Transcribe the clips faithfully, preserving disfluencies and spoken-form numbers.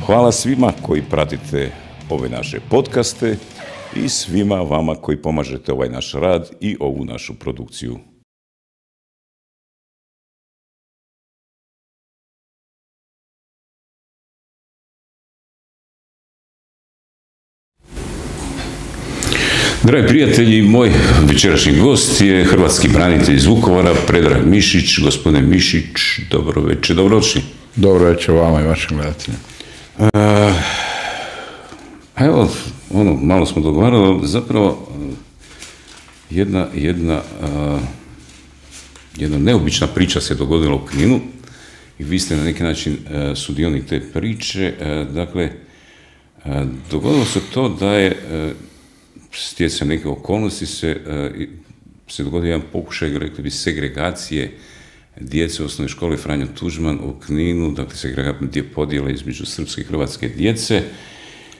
Hvala svima koji pratite ove naše podcaste i svima vama koji pomažete ovaj naš rad i ovu našu produkciju. Dragi prijatelji, moj večerašnji gost je hrvatski branitelj iz Vukovara, Predrag Mišić. Gospodine Mišić, dobro večer, dobrodošli. Dobro večer vama i vašim gledateljima. Uh, evo, ono, malo smo dogovarali, zapravo jedna, jedna, uh, jedna neobična priča se dogodila u Kninu i vi ste na neki način uh, sudionik te priče. Uh, dakle, uh, dogodilo se to da je uh, stjecajem neke okolnosti se, uh, se dogodio jedan pokušaj, rekli bi, segregacije djece u osnovnoj školi Franjo Tuđman u Kninu, dakle segregacije podjele između srpske i hrvatske djece,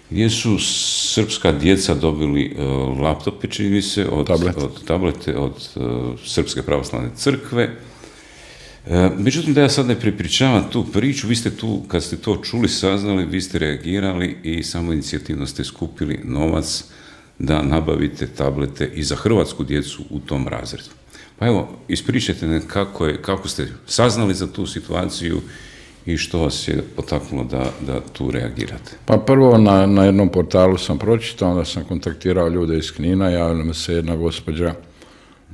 gdje su srpska djeca dobili uh, laptope, čini mi se, od, Tablet. od tablete od uh, Srpske pravoslavne crkve. Uh, međutim, da ja sad ne prepričavam tu priču, vi ste tu, kad ste to čuli, saznali, vi ste reagirali i samo inicijativno ste skupili novac da nabavite tablete i za hrvatsku djecu u tom razredu. Pa evo, ispričajte ne kako, je, kako ste saznali za tu situaciju i što vas je potaknulo da, da tu reagirate. Pa prvo na, na jednom portalu sam pročitao, onda sam kontaktirao ljude iz Knina, javila mi se jedna gospođa,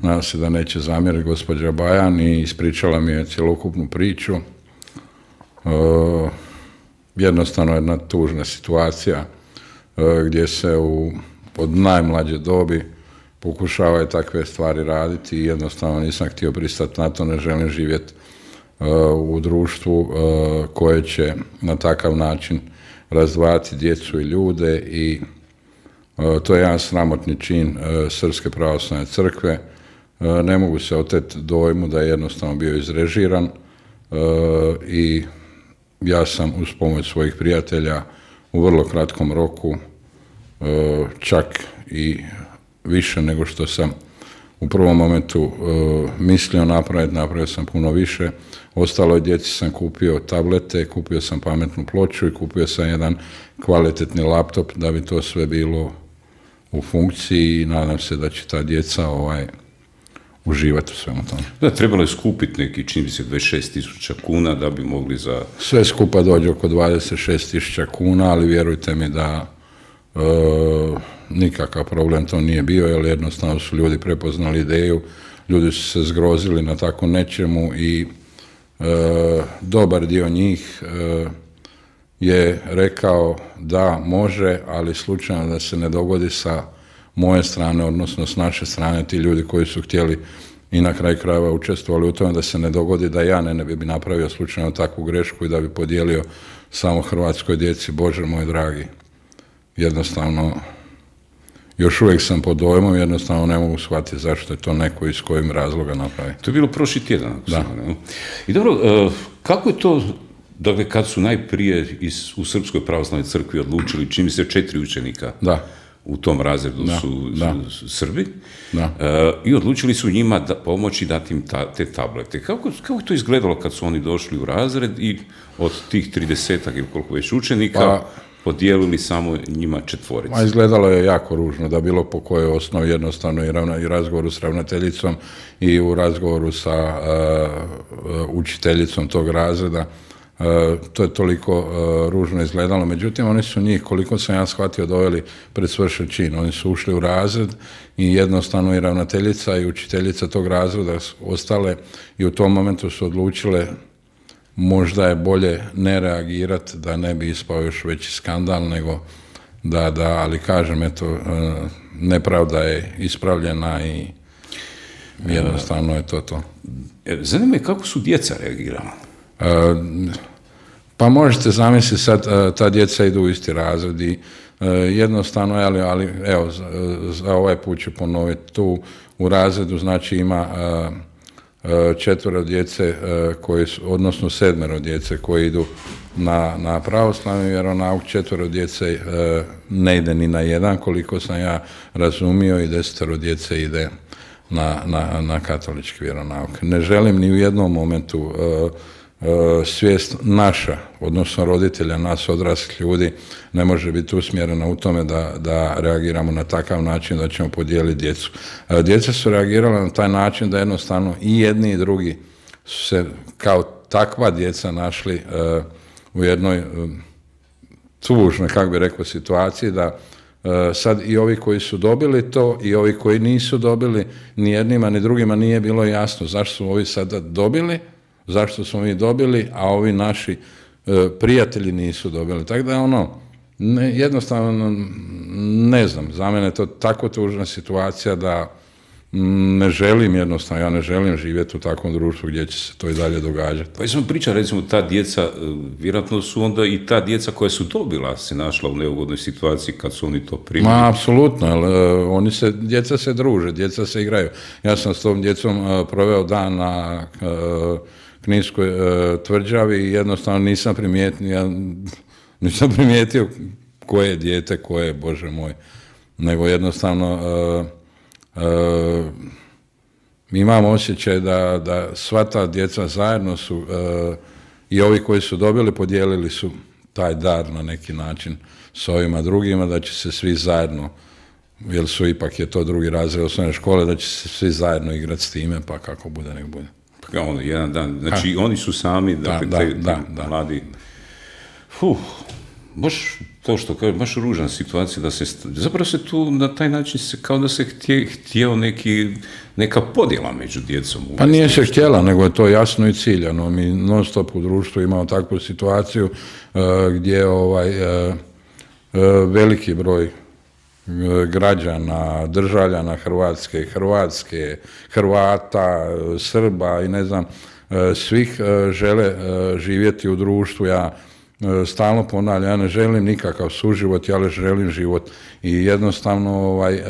nadam se da neće zamjeriti, gospođa Bajan, i ispričala mi je cjelokupnu priču. E, jednostavno jedna tužna situacija e, gdje se u, od najmlađe dobi pokušavaju takve stvari raditi i jednostavno nisam htio pristati na to, ne želim živjeti uh, u društvu uh, koje će na takav način razdvajati djecu i ljude i uh, to je jedan sramotni čin uh, Srpske pravoslavne crkve. Uh, ne mogu se oteti dojmu da je jednostavno bio izrežiran uh, i ja sam uz pomoć svojih prijatelja u vrlo kratkom roku uh, čak i više nego što sam u prvom momentu uh, mislio napraviti, napravio sam puno više. Ostaloj djeci sam kupio tablete, kupio sam pametnu ploču i kupio sam jedan kvalitetni laptop da bi to sve bilo u funkciji i nadam se da će ta djeca ovaj, uživati u svemu tome. Da, trebalo je skupiti neki, čini mi se, dvadeset šest tisuća kuna da bi mogli za... Sve skupa dođe oko dvadeset šest tisuća kuna, ali vjerujte mi da uh, nikakav problem to nije bio, jer jednostavno su ljudi prepoznali ideju, ljudi su se zgrozili na tako nečemu i e, dobar dio njih e, je rekao da može, ali slučajno da se ne dogodi sa moje strane, odnosno s naše strane, ti ljudi koji su htjeli i na kraju krajeva učestvovali u tome, da se ne dogodi da ja ne, ne bi napravio slučajno takvu grešku i da bi podijelio samo hrvatskoj djeci. Bože moj dragi, jednostavno još uvijek sam pod dojmom, jednostavno ne mogu shvatiti zašto je to neko iz kojim razloga napravi. To je bilo prošli tjedan. Da. Ne? I dobro, kako je to, dakle, kad su najprije iz, u Srpskoj pravoslavnoj crkvi odlučili, čini mi se četiri učenika da. u tom razredu da. su, da. su Srbi, da. Uh, i odlučili su njima da pomoći dati im ta, te tablete. Kako, kako je to izgledalo kad su oni došli u razred i od tih tridesetak ili koliko već učenika, pa podijelili samo njima četvoricu? Ma, izgledalo je jako ružno, da bilo po kojoj osnovi, jednostavno i, ravna, i razgovoru s ravnateljicom i u razgovoru sa uh, učiteljicom tog razreda. Uh, to je toliko uh, ružno izgledalo. Međutim, oni su njih, koliko sam ja shvatio, doveli pred svršen čin. Oni su ušli u razred i jednostavno i ravnateljica i učiteljica tog razreda ostale i u tom momentu su odlučile možda je bolje ne reagirati, da ne bi ispao još veći skandal, nego da, da, ali kažem, eto, nepravda je ispravljena i jednostavno je to to. Zanima me kako su djeca reagirala? E, pa možete zamisliti sad, ta djeca idu u isti razred i e, jednostavno, ali, ali evo, za, za ovaj put ću ponoviti, tu u razredu znači ima e, četvero djece, koji su, odnosno sedmero djece koji idu na, na pravoslavni vjeronauk, četvero djece ne ide ni na jedan, koliko sam ja razumio, i desetero djece ide na, na, na katolički vjeronauk. Ne želim ni u jednom momentu svijest naša, odnosno roditelja, nas odraslih ljudi, ne može biti usmjerena u tome da, da reagiramo na takav način da ćemo podijeliti djecu. Djeca su reagirala na taj način da jednostavno i jedni i drugi su se kao takva djeca našli uh, u jednoj uh, tužnoj, kako bi rekao, situaciji da uh, sad i ovi koji su dobili to i ovi koji nisu dobili, ni jednima ni drugima nije bilo jasno zašto su ovi sada dobili, zašto smo mi dobili, a ovi naši uh, prijatelji nisu dobili. Tako da ono, ne, jednostavno ne znam, za mene je to tako tužna situacija da ne želim jednostavno, ja ne želim živjeti u takvom društvu gdje će se to i dalje događati. Pa jesmo pričali, recimo, ta djeca, vjerojatno su onda i ta djeca koja su dobila se našla u neugodnoj situaciji kad su oni to primili. Ma, apsolutno, jer uh, oni se, djeca se druže, djeca se igraju. Ja sam s tom djecom uh, proveo dan na uh, Kninskoj uh, tvrđavi i jednostavno nisam primijetio, ja, nisam primijetio koje je dijete, koje je, Bože moj, nego jednostavno uh, Uh, imam osjećaj da, da sva ta djeca zajedno su uh, i ovi koji su dobili podijelili su taj dar na neki način s ovima drugima, da će se svi zajedno, jer su ipak je to drugi razred osnovne škole, da će se svi zajedno igrati s time, pa kako bude, nek bude. Pa ono, jedan dan, znači ha. Oni su sami, dakle, da, te, da, te da, mladi, fuh, baš to što kaže, baš ružna situacija da se, zapravo se tu na taj način se, kao da se htje, htjeo neki, neka podjela među djecom. Pa nije se htjela, nego je to jasno i ciljano. Mi non stop u društvu imamo takvu situaciju uh, gdje ovaj uh, uh, veliki broj uh, građana, državljana Hrvatske, Hrvatske, Hrvata, uh, Srba i ne znam, uh, svih uh, žele uh, živjeti u društvu. Ja stalno ponavljam, ja ne želim nikakav suživot, ja želim život i jednostavno ovaj,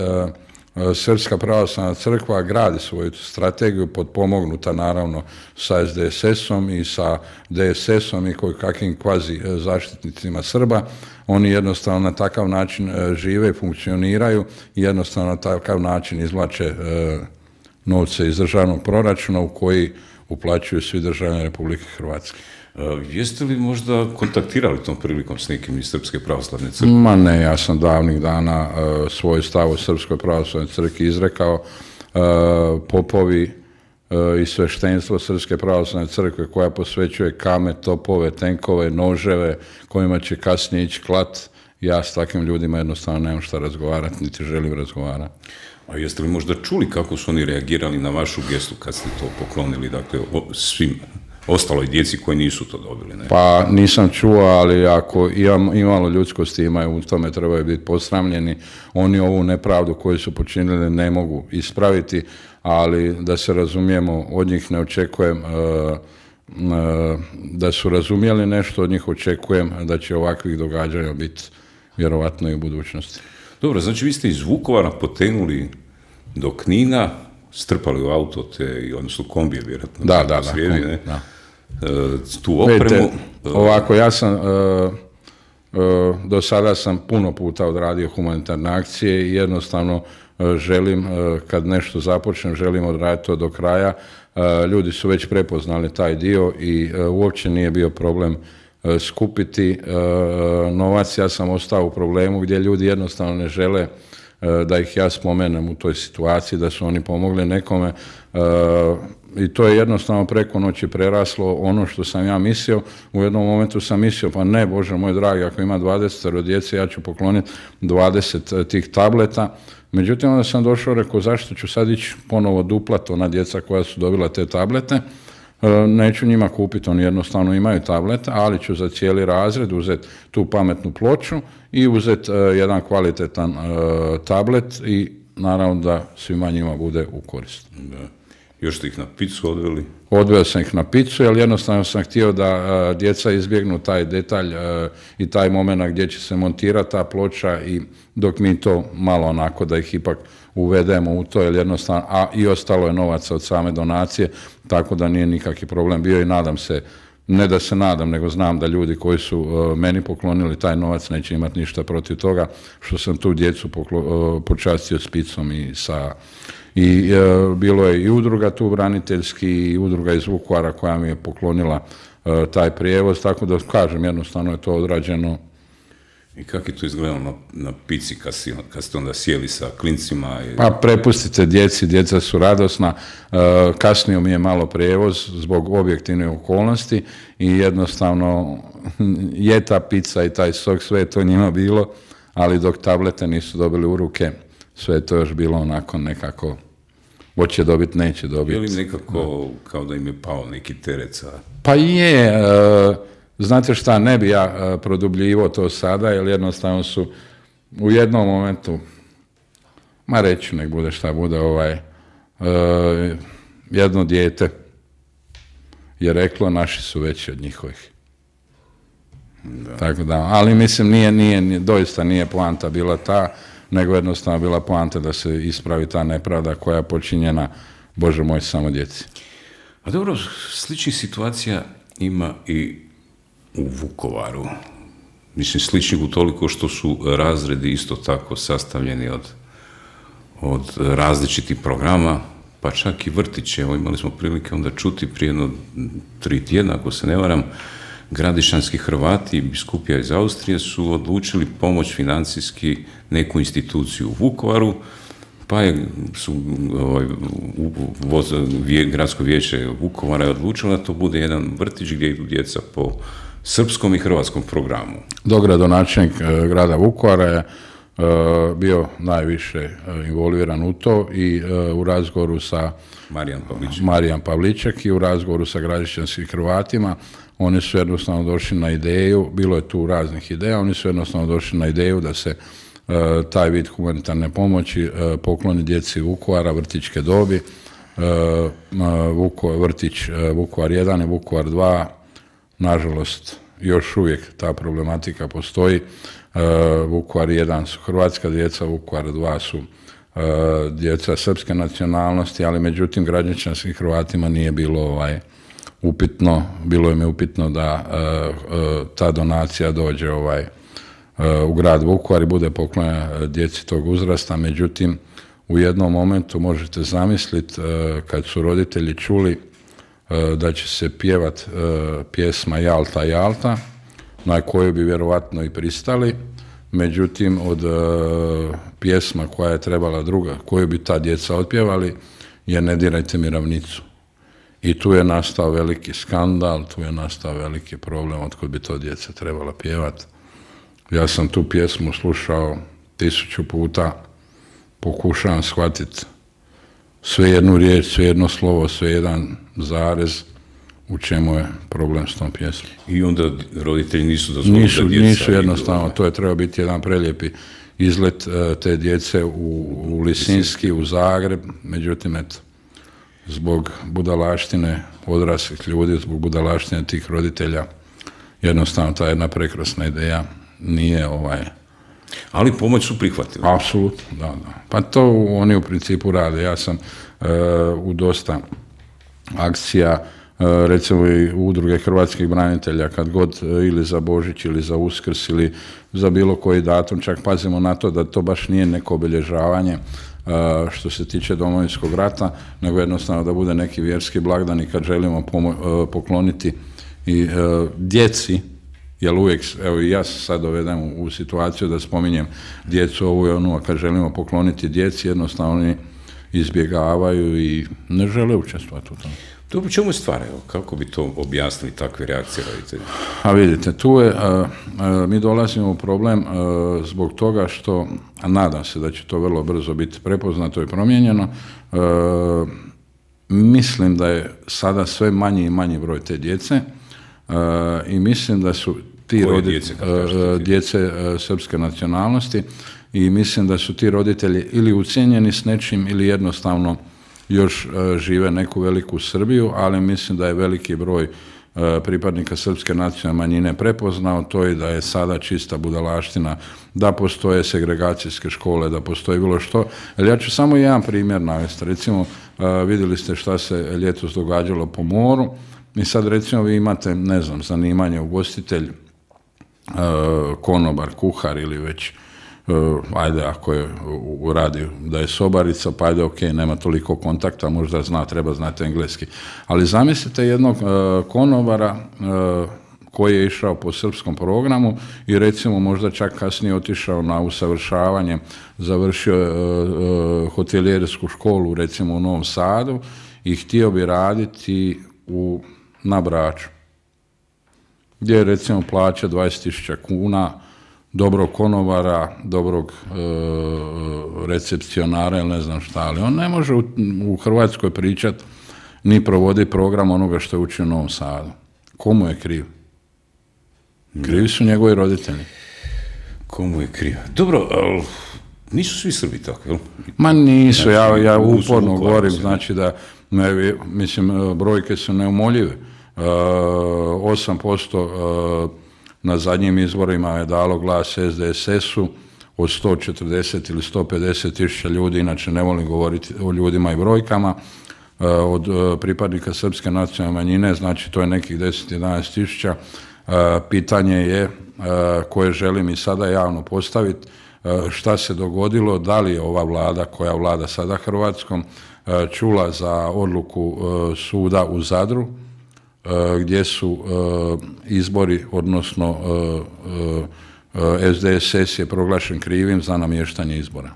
Srpska pravoslavna crkva gradi svoju strategiju potpomognuta naravno sa es de es esom i sa de es esom i kakvim kvazi zaštitnicima Srba. Oni jednostavno na takav način žive i funkcioniraju i jednostavno na takav način izvlače novce iz državnog proračuna u koji uplaćuju svi državljani Republike Hrvatske. Uh, jeste li možda kontaktirali tom prilikom s nekim iz Srpske pravoslavne crkve? Ma ne, ja sam davnih dana uh, svoj stav u Srpskoj pravoslavnoj crkvi izrekao. Uh, popovi uh, i sveštenstvo Srpske pravoslavne crkve koja posvećuje kame, topove, tenkove, noževe, kojima će kasnije ići klat. Ja s takvim ljudima jednostavno nemam šta razgovarati, niti želim razgovarati. A jeste li možda čuli kako su oni reagirali na vašu gestu kad ste to poklonili, dakle, svim ostaloj djeci koji nisu to dobili? Ne? Pa nisam čuo, ali ako imam, imalo ljudskosti imaju, u tome trebaju biti posramljeni. Oni ovu nepravdu koju su počinili ne mogu ispraviti, ali da se razumijemo, od njih ne očekujem uh, uh, da su razumjeli nešto, od njih očekujem da će ovakvih događanja biti vjerovatno i u budućnosti. Dobro, znači vi ste iz Vukovara potenuli do Knina, strpali u auto te, odnosno kombije vjerojatno. Da, da, srijedi, da, ne? da. E, tu opremu. Vidite, ovako, ja sam, uh, uh, do sada sam puno puta odradio humanitarne akcije i jednostavno uh, želim, uh, kad nešto započnem, želim odraditi to do kraja. Uh, ljudi su već prepoznali taj dio i uh, uopće nije bio problem uh, skupiti uh, novac. Ja sam ostao u problemu gdje ljudi jednostavno ne žele da ih ja spomenem u toj situaciji, da su oni pomogli nekome i to je jednostavno preko noći preraslo ono što sam ja mislio. U jednom momentu sam mislio, pa ne, Bože moj dragi, ako ima dvadeset djece, ja ću pokloniti dvadeset tih tableta. Međutim, onda sam došao, rekao, zašto ću sad ići ponovo duplat ona djeca koja su dobila te tablete? Neću njima kupiti, oni jednostavno imaju tablete, ali ću za cijeli razred uzeti tu pametnu ploču i uzeti uh, jedan kvalitetan uh, tablet i naravno da svima njima bude u korist. Da. Još ste ih na picu odveli? Odveo sam ih na picu, jer jednostavno sam htio da uh, djeca izbjegnu taj detalj uh, i taj moment gdje će se montirati ta ploča i dok mi to malo onako da ih ipak uvedemo u to, jer jednostavno, a i ostalo je novaca od same donacije, tako da nije nikakvi problem bio i nadam se, ne da se nadam, nego znam da ljudi koji su uh, meni poklonili taj novac neće imati ništa protiv toga, što sam tu djecu poklo, uh, počastio s picom i sa... I uh, bilo je i udruga tu braniteljski i udruga iz Vukovara koja mi je poklonila taj prijevoz, tako da kažem, jednostavno je to odrađeno. I kako je to izgledalo na, na pici kad, si, kad ste onda sjeli sa klincima? I... Pa prepustite djeci, djeca su radosna, kasnio mi je malo prijevoz zbog objektivne okolnosti i jednostavno je ta pizza i taj sok, sve je to njima bilo, ali dok tablete nisu dobili u ruke, sve je to još bilo onako nekako, hoće dobiti, neće dobiti. Je li nekako kao da im je pao neki teret sa... Pa je, znate šta, ne bi ja produbljivo to sada, jer jednostavno su u jednom momentu, ma reću, nek bude šta bude, ovaj, jedno dijete je reklo, naši su veći od njihovih. Da. Tako da, ali mislim, nije, nije, doista nije poanta bila ta, nego jednostavno bila poanta da se ispravi ta nepravda koja je počinjena, Bože moj, samo djeci. A dobro, sličnih situacija ima i u Vukovaru. Mislim, sličnih utoliko što su razredi isto tako sastavljeni od, od različitih programa, pa čak i vrtiće. Evo, imali smo prilike onda čuti prije jedno tri tjedna, ako se ne varam, Gradišanski Hrvati i biskupija iz Austrije su odlučili pomoć financijski neku instituciju u Vukovaru, pa je, su, ovaj, voz, vje, gradsko vijeće Vukovara je odlučilo da to bude jedan vrtić gdje idu djeca po srpskom i hrvatskom programu. Dogradonačelnik eh, grada Vukovara je eh, bio najviše eh, involviran u to i eh, u razgovoru sa Marijan Pavliček. Marijan Pavliček i u razgovoru sa gradišćanskim Hrvatima. Oni su jednostavno došli na ideju, bilo je tu raznih ideja, oni su jednostavno došli na ideju da se uh, taj vid humanitarne pomoći uh, pokloni djeci Vukovara, vrtićke dobi, uh, Vuko, vrtić uh, Vukovar jedan i Vukovar dva, nažalost, još uvijek ta problematika postoji. Uh, Vukovar jedan su hrvatska djeca, Vukovar dva su uh, djeca srpske nacionalnosti, ali međutim gradišćanskim Hrvatima nije bilo ovaj upitno, bilo im je upitno da uh, uh, ta donacija dođe ovaj, uh, u grad Vukovar i bude poklonjena djeci tog uzrasta, međutim u jednom momentu možete zamisliti uh, kad su roditelji čuli uh, da će se pjevat uh, pjesma Jalta, Jalta, na koju bi vjerovatno i pristali, međutim od uh, pjesma koja je trebala druga, koju bi ta djeca otpjevali, je Ne dirajte mi ravnicu. I tu je nastao veliki skandal, tu je nastao veliki problem otkud bi to djeca trebala pjevati. Ja sam tu pjesmu slušao tisuću puta, pokušavam shvatiti sve jednu riječ, sve jedno slovo, sve jedan zarez, u čemu je problem s tom pjesmom. I onda roditelji nisu dozvolili nisu, da djeca... Nisu jednostavno, to je trebao biti jedan prelijepi izlet te djece u, u Lisinski, u Zagreb, međutim, eto, zbog budalaštine odraslih ljudi, zbog budalaštine tih roditelja, jednostavno ta jedna prekrasna ideja nije ovaj... Ali pomoć su prihvatili. Apsolutno, da, da. Pa to oni u principu rade. Ja sam uh, u dosta akcija, uh, recimo i udruge hrvatskih branitelja, kad god uh, ili za Božić ili za Uskrs ili za bilo koji datum, čak pazimo na to da to baš nije neko obilježavanje Uh, što se tiče Domovinskog rata, nego jednostavno da bude neki vjerski blagdan i kad želimo uh, pokloniti i uh, djeci, jer uvijek, evo i ja se sad dovedem u, u situaciju da spominjem djecu ovu i onu, a kad želimo pokloniti djeci, jednostavno oni izbjegavaju i ne žele učestvovati u tome. Dobro, čemu je stvar, evo, kako bi to objasnili takve reakcije roditelja? A vidite, tu je, a, a, mi dolazimo u problem a, zbog toga što, a nadam se da će to vrlo brzo biti prepoznato i promijenjeno, a, mislim da je sada sve manji i manji broj te djece a, i mislim da su ti roditelji, djece, a, djece a, srpske nacionalnosti i mislim da su ti roditelji ili ucijenjeni s nečim ili jednostavno još uh, žive neku veliku Srbiju, ali mislim da je veliki broj uh, pripadnika srpske nacionalne manjine prepoznao to i da je sada čista budalaština, da postoje segregacijske škole, da postoji bilo što. Ali ja ću samo jedan primjer navesti. Recimo, uh, vidjeli ste šta se ljetos događalo po moru i sad recimo vi imate, ne znam, zanimanje ugostitelj, uh, konobar, kuhar ili već ajde, ako je u radi da je sobarica, pa ajde, ok, nema toliko kontakta, možda zna, treba znati engleski. Ali zamislite jednog konobara koji je išao po srpskom programu i recimo možda čak kasnije otišao na usavršavanje, završio hotelijersku školu recimo u Novom Sadu i htio bi raditi u, na Braču, gdje je recimo plaća dvadeset tisuća kuna, dobrog konobara, dobrog e, recepcionara ili ne znam šta, ali on ne može u, u Hrvatskoj pričati ni provoditi program onoga što je učio u Novom Sadu. Komu je kriv? Krivi su njegovi roditelji. Komu je kriv? Dobro, ali nisu svi Srbi tako, jel? Ma nisu, znači, ja, ja uporno govorim, znači da, ne, mislim, brojke su neumoljive. osam posto na zadnjim izborima je dalo glas S D S S-u od sto četrdeset ili sto pedeset tisuća ljudi, inače ne volim govoriti o ljudima i brojkama, od pripadnika srpske nacionalne manjine, znači to je nekih deset do jedanaest tisuća. Pitanje je koje želim i sada javno postaviti, šta se dogodilo, da li je ova vlada koja vlada sada Hrvatskom čula za odluku suda u Zadru, gdje su izbori, odnosno S D S S je proglašen krivim za namještanje izbora.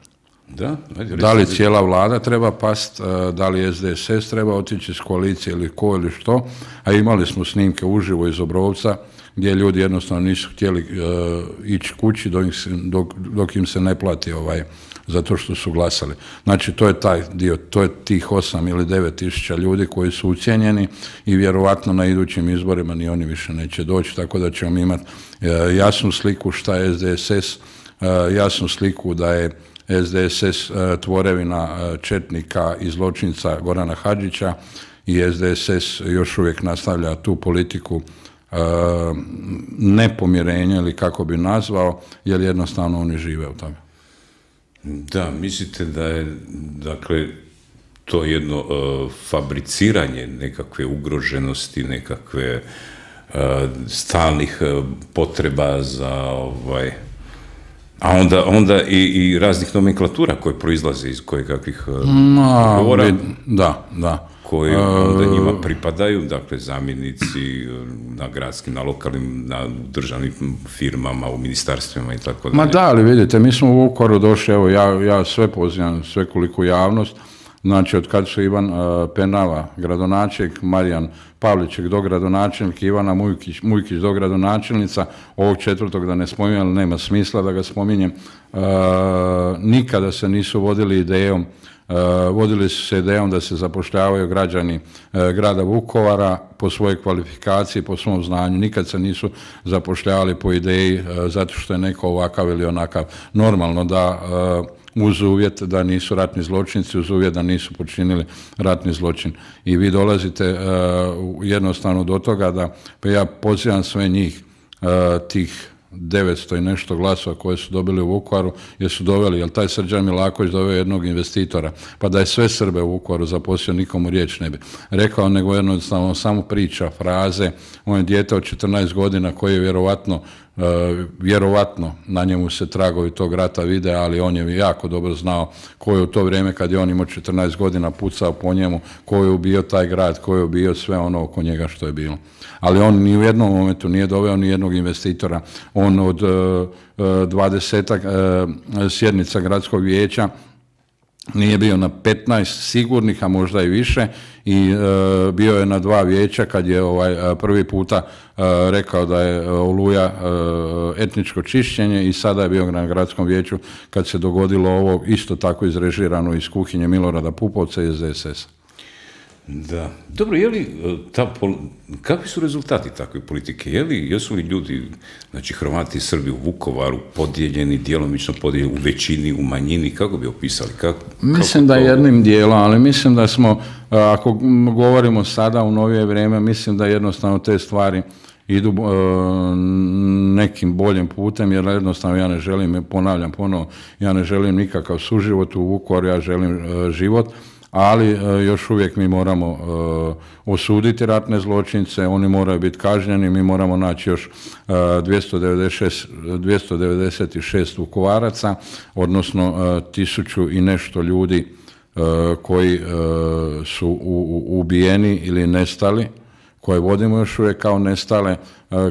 Da, ajde, da li cijela vlada treba past, da li S D S S treba otići iz koalicije ili ko ili što, a imali smo snimke uživo iz Obrovca gdje ljudi jednostavno nisu htjeli uh, ići kući dok, dok, dok im se ne plati ovaj, zato što su glasali. Znači to je taj dio, to je tih osam ili devet tisuća ljudi koji su ucijenjeni i vjerovatno na idućim izborima ni oni više neće doći, tako da ćemo imati uh, jasnu sliku šta je S D S S, uh, jasnu sliku da je S D S S uh, tvorevina uh, četnika i zločinca Gorana Hadžića i S D S S još uvijek nastavlja tu politiku uh, nepomirenja ili kako bi nazvao, jer jednostavno oni žive u tome. Da, mislite da je, dakle, to jedno uh, fabriciranje nekakve ugroženosti, nekakve uh, stalnih uh, potreba za ovaj... A onda, onda i, i raznih nomenklatura koje proizlaze iz kojekakvih govora, da, da. koji onda njima pripadaju, dakle zamjenici na gradskim, na lokalnim, na državnim firmama, u ministarstvima i tako dalje. Ma da, ali vidite, mi smo u Vukovaru došli, evo ja, ja sve pozivam, sve koliko javnost, znači od kad su Ivan uh, Penava, gradonačelnik, Marijan Pavliček dogradonačelnik, Ivana Mujkić, Mujkić dogradonačelnica, ovog četvrtog da ne spominjem, ali nema smisla da ga spominjem, uh, nikada se nisu vodili idejom, uh, vodili su se idejom da se zapošljavaju građani uh, grada Vukovara po svojoj kvalifikaciji, po svom znanju, nikad se nisu zapošljavali po ideji uh, zato što je neko ovakav ili onakav. Normalno da uh, uz uvjet da nisu ratni zločinci, uz uvjet da nisu počinili ratni zločin. I vi dolazite uh, jednostavno do toga da, pa ja pozivam sve njih, uh, tih devetsto i nešto glasova koje su dobili u Vukovaru, jer su doveli, jer taj Srđan Milaković doveo jednog investitora, pa da je sve Srbe u Vukovaru zaposlio, nikomu riječ ne bi rekao, nego jednostavno samo priča, fraze, on je dijete od četrnaest godina koji je vjerovatno Uh, vjerovatno na njemu se tragovi tog rata vide, ali on je jako dobro znao ko je u to vrijeme kad je on imao četrnaest godina pucao po njemu, ko je ubio taj grad, ko je ubio sve ono oko njega što je bilo. Ali on ni u jednom momentu nije doveo ni jednog investitora. On od dvadesetak uh, uh, sjednica gradskog vijeća nije bio na petnaest sigurnih, a možda i više, i e, bio je na dva vijeća kad je ovaj prvi puta e, rekao da je Oluja e, etničko čišćenje, i sada je bio na gradskom vijeću kad se dogodilo ovo isto tako izrežirano iz kuhinje Milorada Pupovca iz S D S S. Da. Dobro, je li ta, kakvi su rezultati takve politike? Je li, jesu li ljudi, znači Hrvati i Srbi u Vukovaru podijeljeni, djelomično podijeljeni, u većini, u manjini, kako bi opisali? Kako, mislim kako da jednim dijelom, ali mislim da smo, ako govorimo sada u novije vrijeme, mislim da jednostavno te stvari idu uh, nekim boljim putem, jer jednostavno ja ne želim, ponavljam ponovo, ja ne želim nikakav suživot u Vukovaru, ja želim uh, život, ali još uvijek mi moramo osuditi ratne zločince, oni moraju biti kažnjeni, mi moramo naći još dvjesto devedeset šest Vukovaraca, odnosno tisuću i nešto ljudi koji su ubijeni ili nestali, koje vodimo još uvijek kao nestale.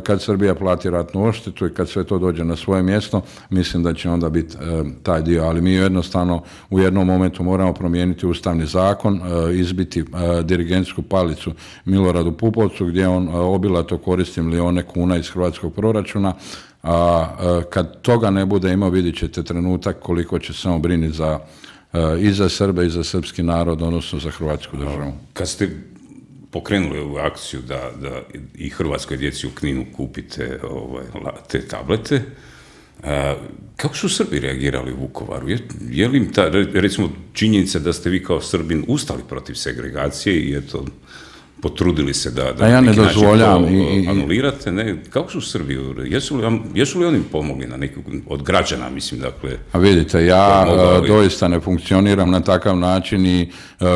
Kad Srbija plati ratnu odštetu i kad sve to dođe na svoje mjesto, mislim da će onda biti taj dio. Ali mi jednostavno u jednom momentu moramo promijeniti ustavni zakon, izbiti dirigentsku palicu Miloradu Pupovcu, gdje on obilato koristi milijone kuna iz hrvatskog proračuna, a kad toga ne bude imao, vidjet ćete trenutak koliko će se on briniti za, i za Srbe i za srpski narod, odnosno za hrvatsku državu. Kad ste pokrenuli ovu akciju da, da i hrvatskoj djeci u Kninu kupite ovaj, te tablete, a, kako su Srbi reagirali u Vukovaru? Je, je li im ta, recimo, činjenica da ste vi kao Srbin ustali protiv segregacije i eto, potrudili se da, da ja ne dozvoljam to i, anulirate, ne? Kako su Srbi? Jesu li, jesu li oni pomogli na nekog od građana, mislim, dakle? A vidite, ja mogli... doista ne funkcioniram na takav način i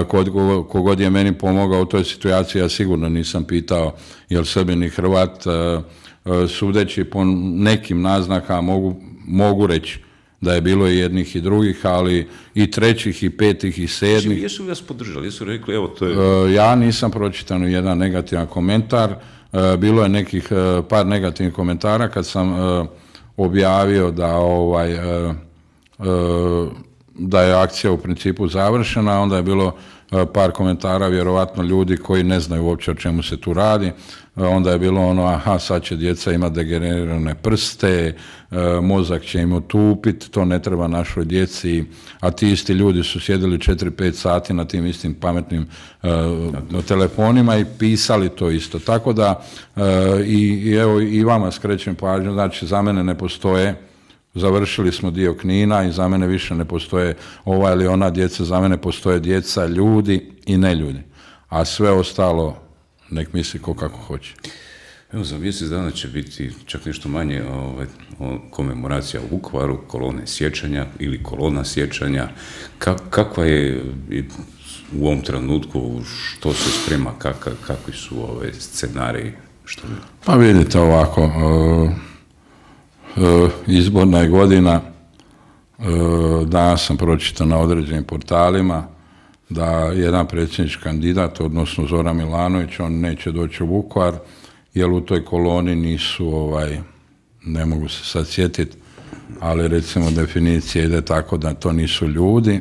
kod, kogod je meni pomogao u toj situaciji, ja sigurno nisam pitao jel Srbin i Hrvat, sudeći po nekim naznakama mogu, mogu reći da je bilo i jednih i drugih, ali i trećih, i petih, i sedmih. Jesu li vas podržali? Jesu rekli, evo, to je... Ja nisam pročitan jedan negativan komentar. Bilo je nekih par negativnih komentara kad sam objavio da, ovaj, da je akcija u principu završena, onda je bilo par komentara, vjerovatno ljudi koji ne znaju uopće o čemu se tu radi. Onda je bilo ono, aha, sad će djeca imati degenerirane prste, mozak će im otupiti, to ne treba našoj djeci, a ti isti ljudi su sjedili četiri pet sati na tim istim pametnim uh, telefonima i pisali to isto. Tako da, uh, i, i evo i vama skrećem pažnju, znači za mene ne postoje, završili smo dio Knina i za mene više ne postoje ova ili ona djeca, za mene postoje djeca, ljudi i ne ljudi. A sve ostalo nek misli ko kako hoće. Evo, za mjesec dana će biti čak nešto manje ovaj, komemoracija u Vukovaru, kolone sjećanja ili kolona sjećanja. Ka, kakva je u ovom trenutku, što se sprema, kak, kakvi su ove scenariji? Što... Pa vidite ovako, uh, uh, izborna je godina, uh, danas sam pročitao na određenim portalima da jedan predsjednički kandidat, odnosno Zoran Milanović, on neće doći u Vukovar, jer u toj koloni nisu, ovaj, ne mogu se sad sjetiti, ali recimo definicija ide tako da to nisu ljudi,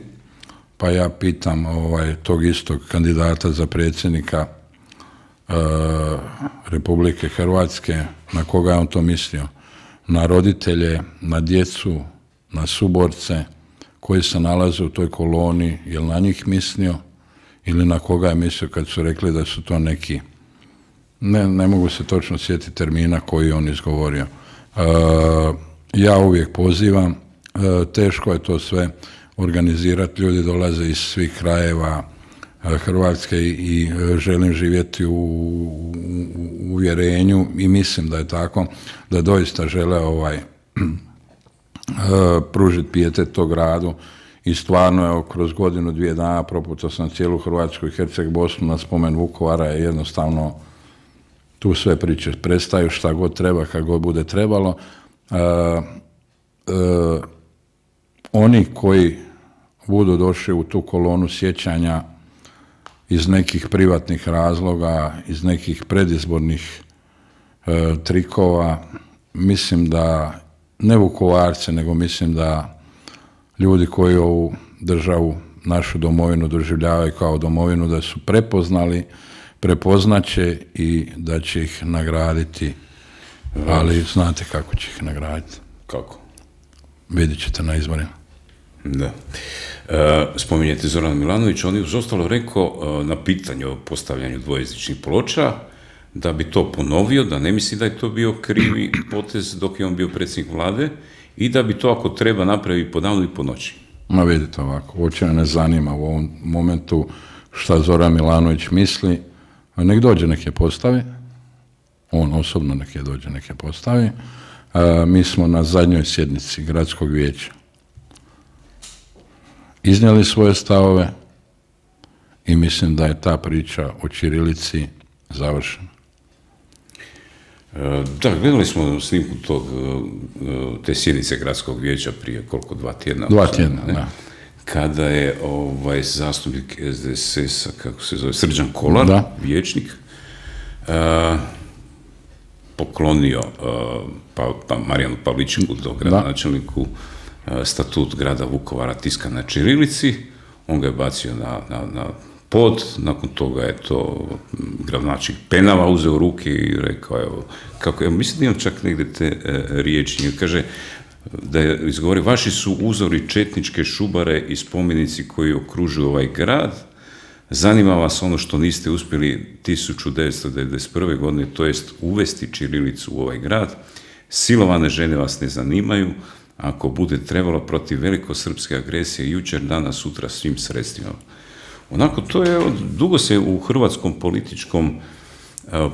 pa ja pitam ovaj, tog istog kandidata za predsjednika e, Republike Hrvatske, na koga je on to mislio? Na roditelje, na djecu, na suborce koji se nalaze u toj koloni, je li na njih mislio ili na koga je mislio kad su rekli da su to neki, ne, ne mogu se točno sjetiti termina koji on izgovorio. E, ja uvijek pozivam, e, teško je to sve organizirati, ljudi dolaze iz svih krajeva e, Hrvatske i, i želim živjeti u, u uvjerenju i mislim da je tako, da doista žele ovaj pružiti pijetet tog gradu i stvarno evo, kroz godinu, dvije dana proputao sam cijelu Hrvatsku i Herceg Bosnu na spomen Vukovara, je jednostavno tu sve priče prestaju, šta god treba, kad god bude trebalo. E, e, oni koji budu došli u tu kolonu sjećanja iz nekih privatnih razloga, iz nekih predizbornih e, trikova, mislim da ne Vukovarce, nego mislim da ljudi koji ovu državu, našu domovinu doživljavaju kao domovinu, da su prepoznali, prepoznaće i da će ih nagraditi, ali znate kako će ih nagraditi. Kako? Vidjet ćete na izborima. Da. E, spominjete Zorana Milanovića, on je uz ostalo rekao na pitanje o postavljanju dvojezičnih ploča da bi to ponovio, da ne misli da je to bio krivi potez dok je on bio predsjednik vlade i da bi to ako treba napravi po danu i po noći. Ma vidite ovako, uopće ne zanima u ovom momentu šta Zoran Milanović misli, nek dođe, nek je postavi, on osobno nek je dođe, nek je postavi. A, mi smo na zadnjoj sjednici gradskog vijeća iznijeli svoje stavove, i mislim da je ta priča o ćirilici završena. Da, gledali smo snimku tog, te sjednice gradskog vijeća prije koliko, dva tjedna? Dva tjedna, ne? Da. Kada je ovaj zastupnik S D S S-a, kako se zove, Srđan Kolar, da. Vijećnik, uh, poklonio uh, pa, pa Marijanu Pavličeku, do gradonačelniku, uh, statut grada Vukovara tiskan na ćirilici, on ga je bacio na, na, na pod, nakon toga je to gradonačelnik Penava uzeo u ruke i rekao, evo, kako, evo, mislim da imam čak negdje te e, riječi, kaže da je izgovori, vaši su uzori četničke šubare i spomenici koji okružuju ovaj grad, zanima vas ono što niste uspjeli tisuću devetsto devedeset prve. godine, to jest uvesti ćirilicu u ovaj grad, silovane žene vas ne zanimaju, ako bude trebalo protiv velikosrpske agresije jučer, danas, sutra svim sredstvima. Onako, to je, dugo se u hrvatskom političkom uh,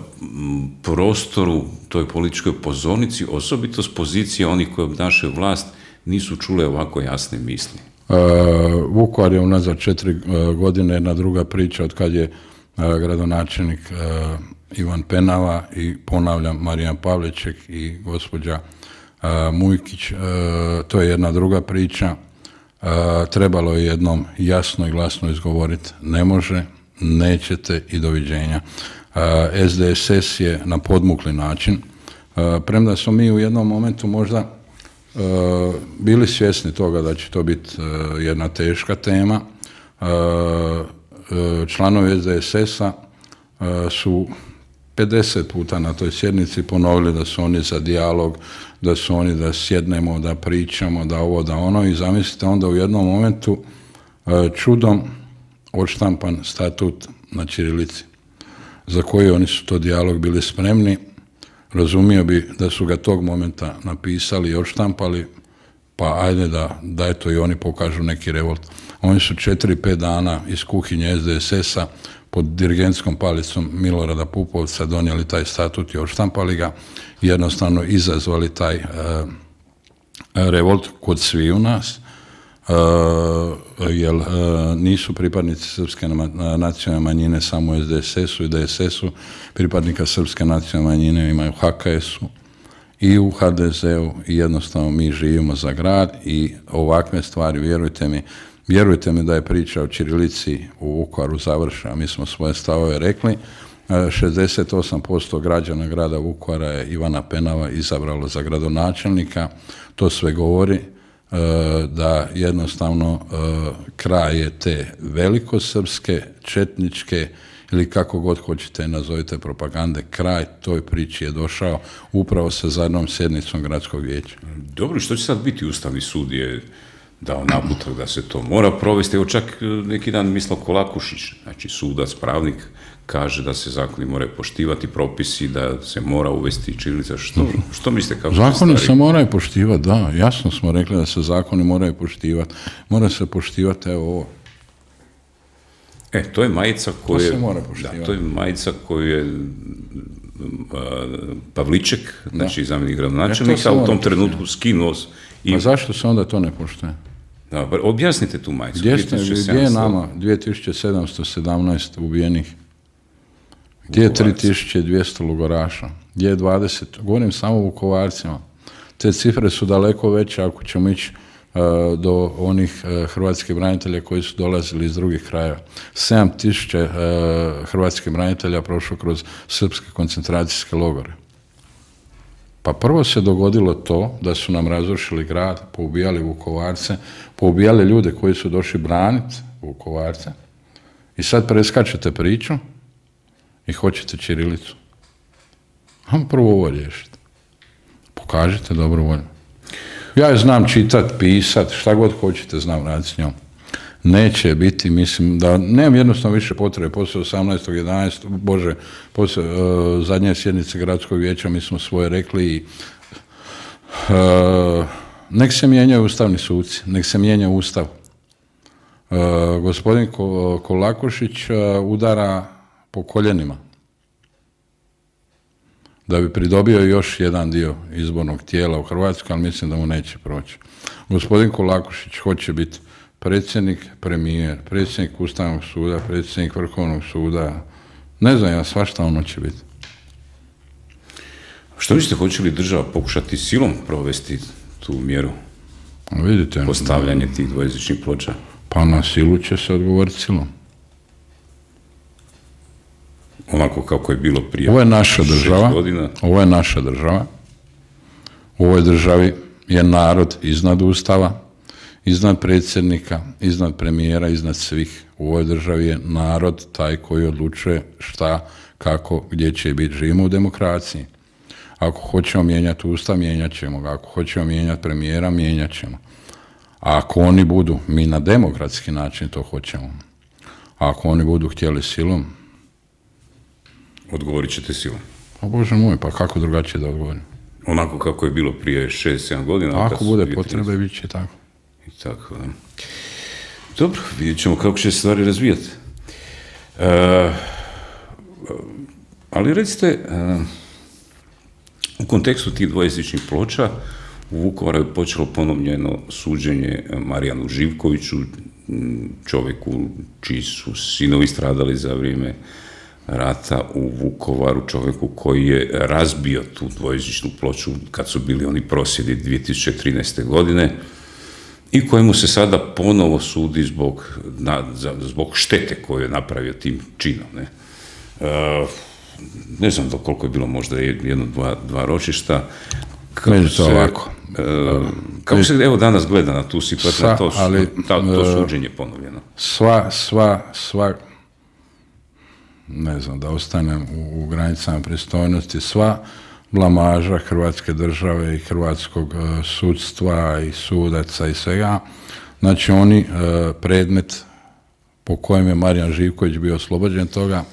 prostoru, toj političkoj pozornici, osobito s pozicije onih koji obnašaju vlast, nisu čule ovako jasne misli. Uh, Vukovar je unazad četiri uh, godine jedna druga priča od kad je uh, gradonačelnik uh, Ivan Penava i ponavljam Marijan Pavliček i gospođa uh, Mujkić, uh, to je jedna druga priča. Uh, trebalo je jednom jasno i glasno izgovoriti, ne može, nećete i doviđenja. Uh, S D S S je na podmukli način, uh, premda smo mi u jednom momentu možda uh, bili svjesni toga da će to biti uh, jedna teška tema. Uh, uh, članovi S D S S-a uh, su pedeset puta na toj sjednici ponovili da su oni za dijalog, da su oni da sjednemo, da pričamo, da ovo, da ono, i zamislite onda u jednom momentu čudom odštampan statut na ćirilici, za koji oni su to dijalog bili spremni. Razumio bi da su ga tog momenta napisali i odštampali, pa ajde da, da eto i oni pokažu neki revolt. Oni su četiri, pet dana iz kuhinje S D S S-a pod dirigentskom palicom Milorada Pupovca donijeli taj statut i odštampali ga, jednostavno izazvali taj uh, revolt kod svi u nas, uh, jer uh, nisu pripadnici srpske nacionalne manjine samo u S D S S-u i D S S-u, pripadnika srpske nacionalne manjine imaju u H K S-u i u H D Z-u i jednostavno mi živimo za grad i ovakve stvari, vjerujte mi, Vjerujte mi da je priča o ćirilici u Vukovaru završena. Mi smo svoje stavove rekli. šezdeset osam posto građana grada Vukovara je Ivana Penava izabralo za gradonačelnika. To sve govori da jednostavno kraj je te velikosrpske, četničke ili kako god hoćete nazovite propagande, kraj toj priči je došao upravo sa zadnjom sjednicom gradskog vijeća. Dobro, što će sad biti? Ustavni sud je dao naputak da se to mora provesti. Evo čak neki dan Mislav Kolakušić, znači sudac, pravnik, kaže da se zakoni moraju poštivati, propisi, da se mora uvesti ćirilica. Što, što mislite? Kako zakoni se moraju poštivati, da. Jasno smo rekli da se zakoni moraju poštivati. Mora se poštivati, evo ovo. E, to je majica koju je... To se mora poštivati. Da, to je majica koju je Pavliček, znači zamjenik gradonačelnika, u tom trenutku skinuo. I... A zašto se onda to ne poštuje? Da, objasnite tu majicu. Gdje, ste, gdje je nama dvije tisuće sedamsto sedamnaest ubijenih? Gdje je tri tisuće dvjesto logoraša? Gdje je dvadeset? Govorim samo o Vukovarcima. Te cifre su daleko veće ako ćemo ići uh, do onih uh, hrvatskih branitelja koji su dolazili iz drugih krajeva. sedam tisuća uh, hrvatskih branitelja prošlo kroz srpske koncentracijske logore. Pa prvo se dogodilo to da su nam razrušili grad, poubijali Vukovarce, poubijali ljude koji su došli braniti Vukovarce i sad preskačete priču i hoćete ćirilicu. Ajmo prvo ovo riješiti. Pokažite dobru volju. Ja je znam čitat, pisat, šta god hoćete znam raditi s njom. Neće biti, mislim, da nemam jednostavno više potrebe. Poslije osamnaestog jedanaestog Bože, poslije uh, zadnje sjednice gradskog vijeća mi smo svoje rekli i uh, nek se mijenjaju ustavni suci, nek se mijenja ustav. Uh, gospodin Ko, Kolakušić uh, udara po koljenima da bi pridobio još jedan dio izbornog tijela u Hrvatskoj, ali mislim da mu neće proći. Gospodin Kolakušić hoće biti predsjednik, premijer, predsjednik Ustavnog suda, predsjednik Vrhovnog suda, ne znam ja, svašta ono će biti. Što mislite, hoće li država pokušati silom provesti tu mjeru? Vidite. Postavljanje tih dvojezičnih ploča? Pa na silu će se odgovoriti silom. Onako kako je bilo prije ovo je naša država, godina. Ovo je naša država. U ovoj državi je narod iznad Ustava, iznad predsjednika, iznad premijera, iznad svih. U ovoj državi je narod taj koji odlučuje šta, kako, gdje će biti. Živimo u demokraciji. Ako hoćemo mijenjati Ustav, mijenjat ćemo ga. Ako hoćemo mijenjati premijera, mijenjat ćemo. A ako oni budu, mi na demokratski način to hoćemo. A ako oni budu htjeli silom, odgovorit ćete silom. Pa Bože moj, pa kako drugačije da odgovorim? Onako kako je bilo prije šest sedam godina. Ako bude potrebe, bit će tako. I tako, da. Dobro, vidjet ćemo kako će se stvari razvijati. E, ali recite, e, u kontekstu tih dvojezičnih ploča, u Vukovaru je počelo ponovljeno suđenje Marijanu Živkoviću, čovjeku čiji su sinovi stradali za vrijeme rata u Vukovaru, čovjeku koji je razbio tu dvojezičnu ploču kad su bili oni prosvjedi dvije tisuće trinaeste. godine i kojemu se sada ponovo sudi zbog, na, za, zbog štete koju je napravio tim činom. Ne, e, ne znam do koliko je bilo, možda jedno, dva, dva ročišta. Meni to ovako. E, kako se evo danas gleda na tu situaciju, na to, ali, ta, to suđenje ponovljeno? Sva, sva, sva, ne znam, da ostanem u, u granicama pristojnosti, sva blamaža Hrvatske države i hrvatskog uh, sudstva i sudaca i svega, znači oni uh, predmet po kojem je Marijan Živković bio oslobođen toga,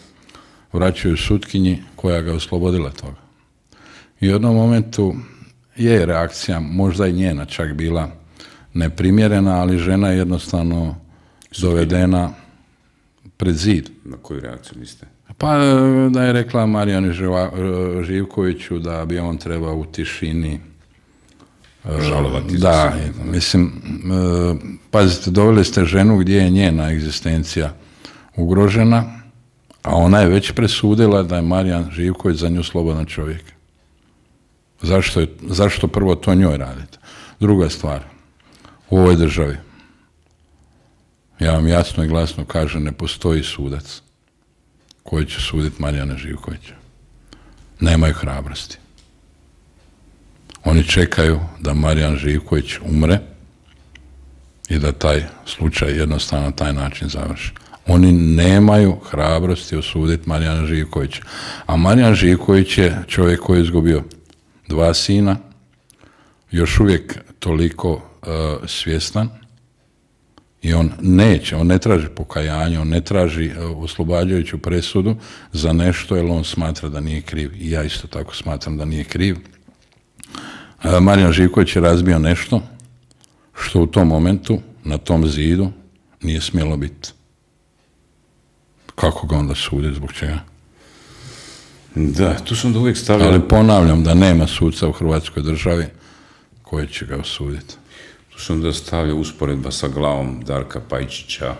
vraćaju sutkinji koja ga oslobodila toga. I u jednom momentu je reakcija, možda i njena čak bila neprimjerena, ali žena je jednostavno dovedena pred zid. Na koju reakciju mislite? Pa da je rekla Marijanu Živkoviću da bi on trebao u tišini žalovati. Da, mislim, pazite, doveli ste ženu gdje je njena egzistencija ugrožena, a ona je već presudila da je Marijan Živković za nju slobodan čovjek. Zašto, je, zašto prvo to njoj radite? Druga stvar, u ovoj državi, ja vam jasno i glasno kažem, ne postoji sudac koji će suditi Marijana Živkovića. Nemaju hrabrosti. Oni čekaju da Marijan Živković umre i da taj slučaj jednostavno na taj način završi. Oni nemaju hrabrosti osuditi Marijana Živkovića. A Marijan Živković je čovjek koji je izgubio dva sina, još uvijek toliko uh, svjestan, i on neće, on ne traži pokajanje, on ne traži uh, oslobađajuću presudu za nešto, jer on smatra da nije kriv. I ja isto tako smatram da nije kriv. Uh, Marijan Živković je razbio nešto što u tom momentu, na tom zidu, nije smjelo biti. Kako ga onda sudi, zbog čega? Da, tu sam da uvijek stavljao... Ali ponavljam da nema suca u Hrvatskoj državi koji će ga osuditi. Tu sam da stavljao usporedba sa glavom Darka Pajčića,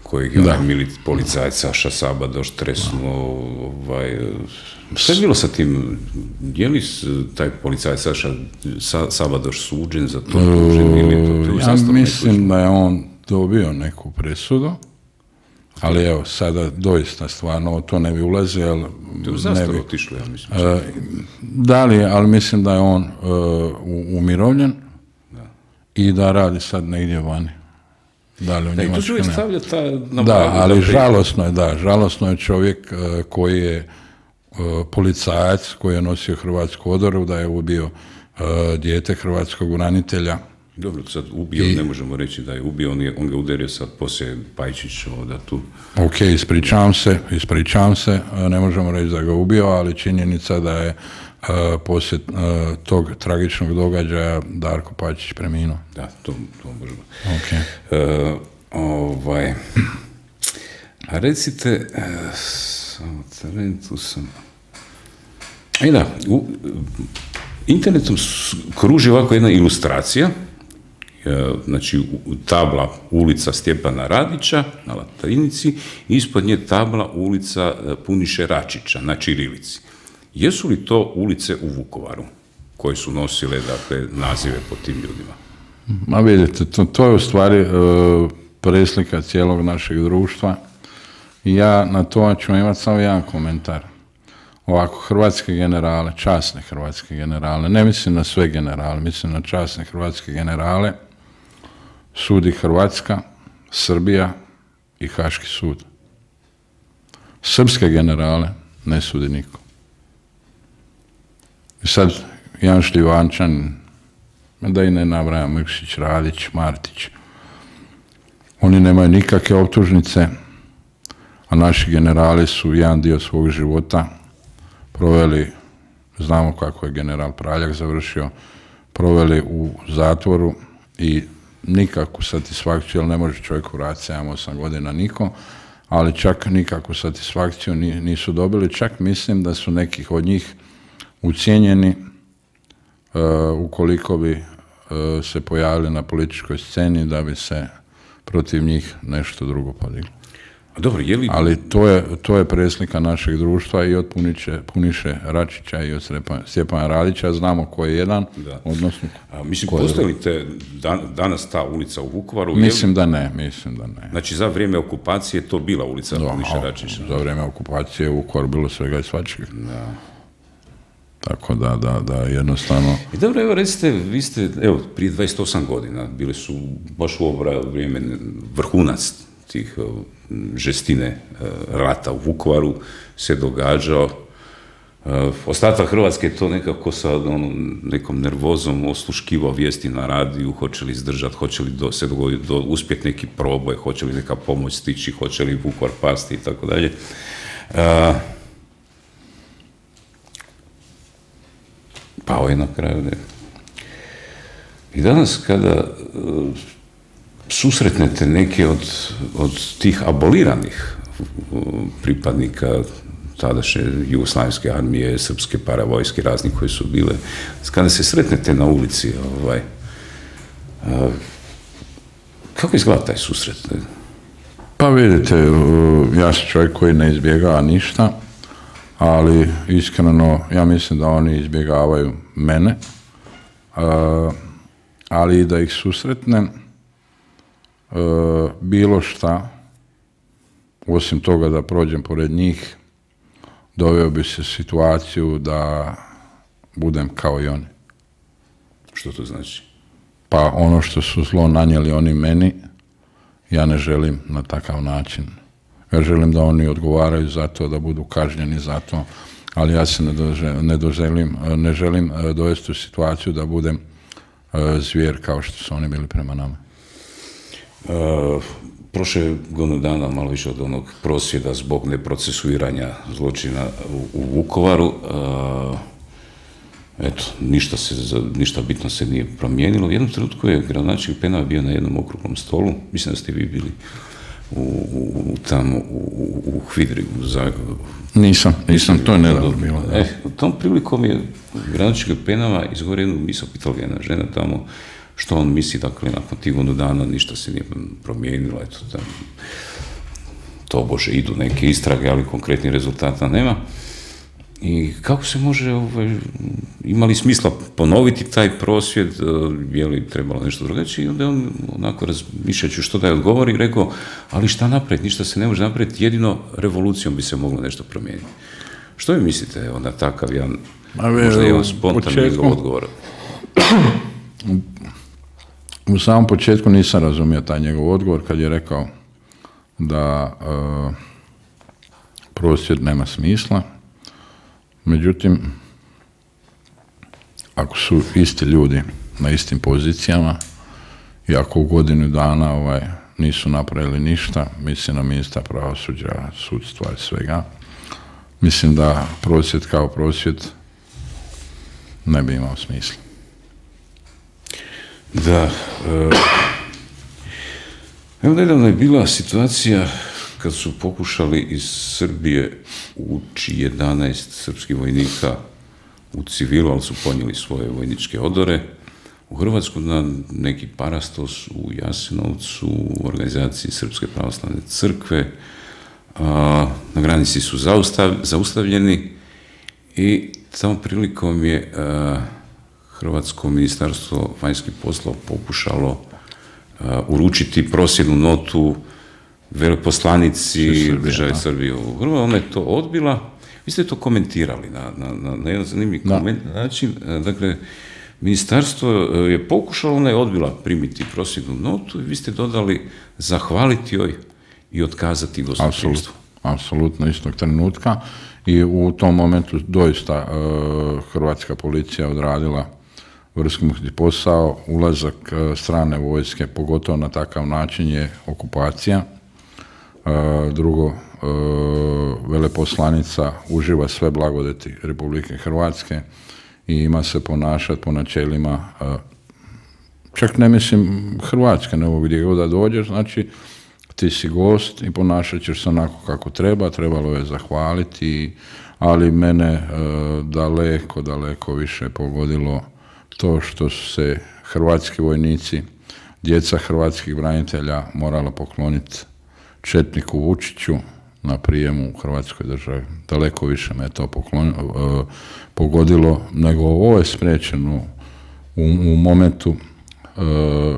kojeg je onaj mili policajac Saša Sabadoš tresnuo. Ovaj, šta je bilo sa tim? Je li taj policajac Saša Sa, Sabadoš suđen za to? Tužen, ili to, to ja mislim da je on dobio neku presudu. Ali evo, sada doista stvarno to ne bi ulazio, ali... To je u zastavu otišlo, ja mislim. Uh, da li, ali mislim da je on uh, umirovljen da. I da radi sad negdje vani. Da li u Njemačkoj, to se uvijek stavlja ta... Da, ali žalosno je, da, žalosno je čovjek uh, koji je uh, policajac, koji je nosio hrvatsku odoru, da je ubio uh, dijete hrvatskog branitelja. Dobro, sad ubio, I, ne možemo reći da je ubio, on, je, on ga udario sad poslije Pajčić da tu... Ok, ispričavam se, ispričavam se, ne možemo reći da ga ubio, ali činjenica da je uh, poslije uh, tog tragičnog događaja Darko Pajčić preminuo. Da, to, to možemo. Ok. Uh, ovaj... A recite, uh, samo talentu sam... I da, u internetom kruži ovako jedna ilustracija, znači tabla ulica Stjepana Radića na latinici, ispod nje tabla ulica Puniše Račića na ćirilici. Jesu li to ulice u Vukovaru koje su nosile, dakle, nazive po tim ljudima? Ma vidite, to, to je u stvari e, preslika cijelog našeg društva. I ja na to ću imati samo jedan komentar. Ovako, hrvatske generale, časne hrvatske generale, ne mislim na sve generale, mislim na časne hrvatske generale, sudi Hrvatska, Srbija i Haški sud. Srpske generale ne sudi niko. I sad Jan Šljivančan, da i ne nabrajam, Mrkšić, Radić, Martić, oni nemaju nikakve optužnice, a naši generali su jedan dio svog života proveli, znamo kako je general Praljak završio, proveli u zatvoru i nikakvu satisfakciju, jer ne može čovjek vratiti sedam osam godina niko, ali čak nikakvu satisfakciju nisu dobili, čak mislim da su nekih od njih ucijenjeni uh, ukoliko bi uh, se pojavili na političkoj sceni da bi se protiv njih nešto drugo podiglo. Dobro, je li... Ali to je, to je preslika našeg društva i od Puniše, Puniše Račića i od Stjepana Radića, znamo ko je jedan, da. Odnosno... A, mislim, postoji li te dan, danas ta ulica u Vukovaru? Mislim da ne, mislim da ne. Znači, za vrijeme okupacije to bila ulica da, Puniše Račića? Za vrijeme okupacije u Vukovaru bilo svega i svačega. Da. Tako da, da, da, jednostavno... I dobro, evo, recite, vi ste, evo, prije dvadeset osam godina, bili su baš u ovo vrijeme vrhunac tih žestine rata u Vukovaru se događao. Ostatak Hrvatske je to nekako sa onom, nekom nervozom osluškivao vijesti na radiju, hoće li izdržati, hoće li do, se dogoditi, do, uspjeti neki proboj, hoće li neka pomoć stići, hoće li Vukovar pasti i tako dalje. Pao je na kraju. Ne. I danas kada uh, susretnete neke od, od tih aboliranih uh, pripadnika tadašnje Jugoslavenske armije, srpske paravojske, razni koji su bile, kada se sretnete na ulici, ovaj, uh, kako izgleda taj susret? Ne? Pa vidite, uh, ja sam čovjek koji ne izbjegava ništa, ali iskreno ja mislim da oni izbjegavaju mene, uh, ali i da ih susretnem, uh, bilo šta, osim toga da prođem pored njih, doveo bi se situaciju da budem kao i oni. Što to znači? Pa ono što su zlo nanijeli oni meni, ja ne želim na takav način. Ja želim da oni odgovaraju za to, da budu kažnjeni za to, ali ja se ne, dože, ne, doželim, ne želim dovesti u situaciju da budem uh, zvijer kao što su oni bili prema nama. Uh, prošle godinu dana, malo više od onog prosvjeda zbog neprocesuiranja zločina u, u Vukovaru, uh, eto, ništa, se, ništa bitno se nije promijenilo. U jednom trenutku je gradonačelnik Penava bio na jednom okruglom stolu, mislim da ste vi bili u, u, tamo u, u Hvidri. U Zagrebu. Nisam, nisam, to je nedavno bilo. E, u tom prilikom je gradonačelnik Penava izgovorio jednu misao, pitala ga jedna žena tamo što on misli, dakle, nakon tih godinu dana ništa se nije promijenilo, eto, tam, to bože, idu neke istrage, ali konkretnih rezultata nema. I kako se može, ovaj, ima li smisla ponoviti taj prosvjed, je li trebalo nešto drugačije, i onda je on onako razmišljajući što da je odgovori, rekao, ali šta naprijed, ništa se ne može napraviti, jedino revolucijom bi se moglo nešto promijeniti. Što vi mislite, onda takav jedan, možda jedan spontani odgovor? U samom početku nisam razumio taj njegov odgovor kad je rekao da uh, prosvjed nema smisla. Međutim, ako su isti ljudi na istim pozicijama i ako u godinu dana ovaj, nisu napravili ništa, mislim na ministra pravosuđa, sudstva i svega, mislim da prosvjed kao prosvjed ne bi imao smisla. Da, evo nedavno je bila situacija kad su pokušali iz Srbije ući jedanaest srpskih vojnika u civilu, ali su ponijeli svoje vojničke odore. u Hrvatsku na neki parastos u Jasenovcu, u organizaciji Srpske pravoslavne crkve. Na granici su zaustav, zaustavljeni i tom prilikom je Hrvatsko ministarstvo vanjskih poslova pokušalo uručiti prosvjednu notu veleposlanici države Srbije u Hrvatskoj. Ona je to odbila. Vi ste to komentirali na, na, na jedan zanimljiv koment, način. Dakle, ministarstvo je pokušalo, ona je odbila primiti prosvjednu notu i vi ste dodali zahvaliti joj i otkazati gostoprimstvo. Apsolutno istog trenutka i u tom momentu doista uh, hrvatska policija odradila vrhunski posao. Ulazak uh, strane vojske, pogotovo na takav način, je okupacija. Uh, drugo, uh, veleposlanica uživa sve blagodeti Republike Hrvatske i ima se ponašati po načelima, uh, čak ne mislim Hrvatske, nego gdje god da dođeš, znači ti si gost i ponašat ćeš se onako kako treba, trebalo je zahvaliti, ali mene e, daleko, daleko više pogodilo to što su se hrvatski vojnici, djeca hrvatskih branitelja morala pokloniti četniku Vučiću na prijemu u Hrvatskoj državi. Daleko više me to poklon, e, pogodilo, nego ovo je spriječeno u, u momentu e,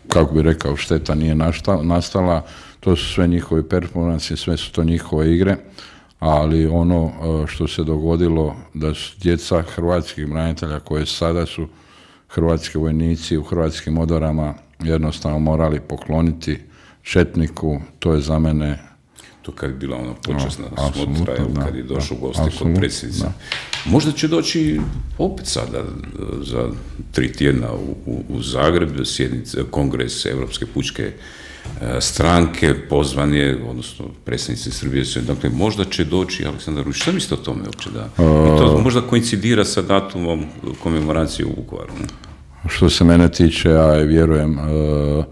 kako bi rekao, šteta nije nastala, to su sve njihovi performansi, sve su to njihove igre, ali ono što se dogodilo da su djeca hrvatskih branitelja koje sada su hrvatski vojnici u hrvatskim odorama jednostavno morali pokloniti četniku, to je za mene... To kad je bila ona počasna no, smotra, da, kad je došao gosti kod predsjednice. Možda će doći opet sada za tri tjedna u, u, u Zagreb, sjednice, kongres Evropske pučke e, stranke, pozvan je, odnosno predstavnici Srbije su, dakle možda će doći Aleksandar Vučić. Šta mislite o tome uopće da? I to možda koincidira sa datumom komemoracije u Vukovaru. Ne? Što se mene tiče, ja vjerujem, e,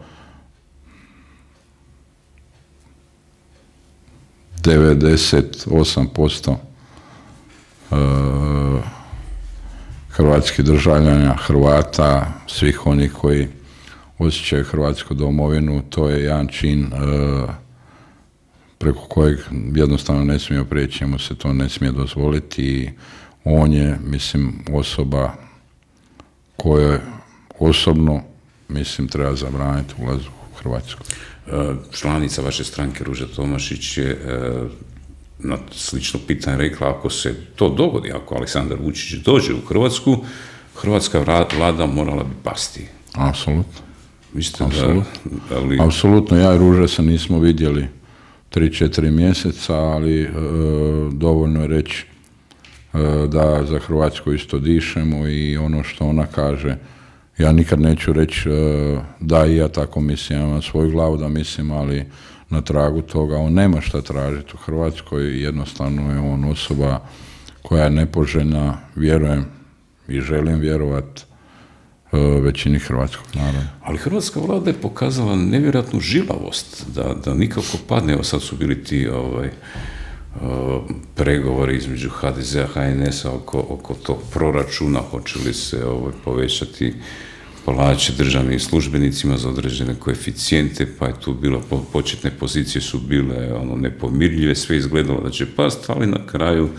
devedeset osam posto hrvatskih državljana, Hrvata, svih onih koji osjećaju hrvatsku domovinu, to je jedan čin preko kojeg jednostavno ne smije prijeći, mu se to ne smije dozvoliti i on je, mislim, osoba koja osobno, mislim, treba zabraniti ulaz u Hrvatsku. Članica vaše stranke Ruža Tomašić je na slično pitanje rekla, ako se to dogodi, ako Aleksandar Vučić dođe u Hrvatsku, hrvatska vlada morala bi pasti. Apsolutno. Mislite Apsolutno. Da, ali... Apsolutno, ja i Ruža se nismo vidjeli tri četiri mjeseca, ali e, dovoljno je reći e, da za Hrvatsku isto dišemo i ono što ona kaže, ja nikad neću reći e, da i ja tako mislim, ja imam svoju glavu da mislim, ali na tragu toga on nema šta tražiti u Hrvatskoj, jednostavno je on osoba koja je nepoželjna, vjerujem i želim vjerovat e, većini hrvatskog naroda. Ali hrvatska vlada je pokazala nevjerojatnu žilavost, da, da nikako padne, evo sad su bili ti ovaj, o, pregovori između ha de zea, ha en esa oko, oko tog proračuna, hoće li se ovaj, povećati plaće državnim službenicima za određene koeficijente, pa je tu bilo, početne pozicije su bile ono, nepomirljive, sve izgledalo da će past, ali na kraju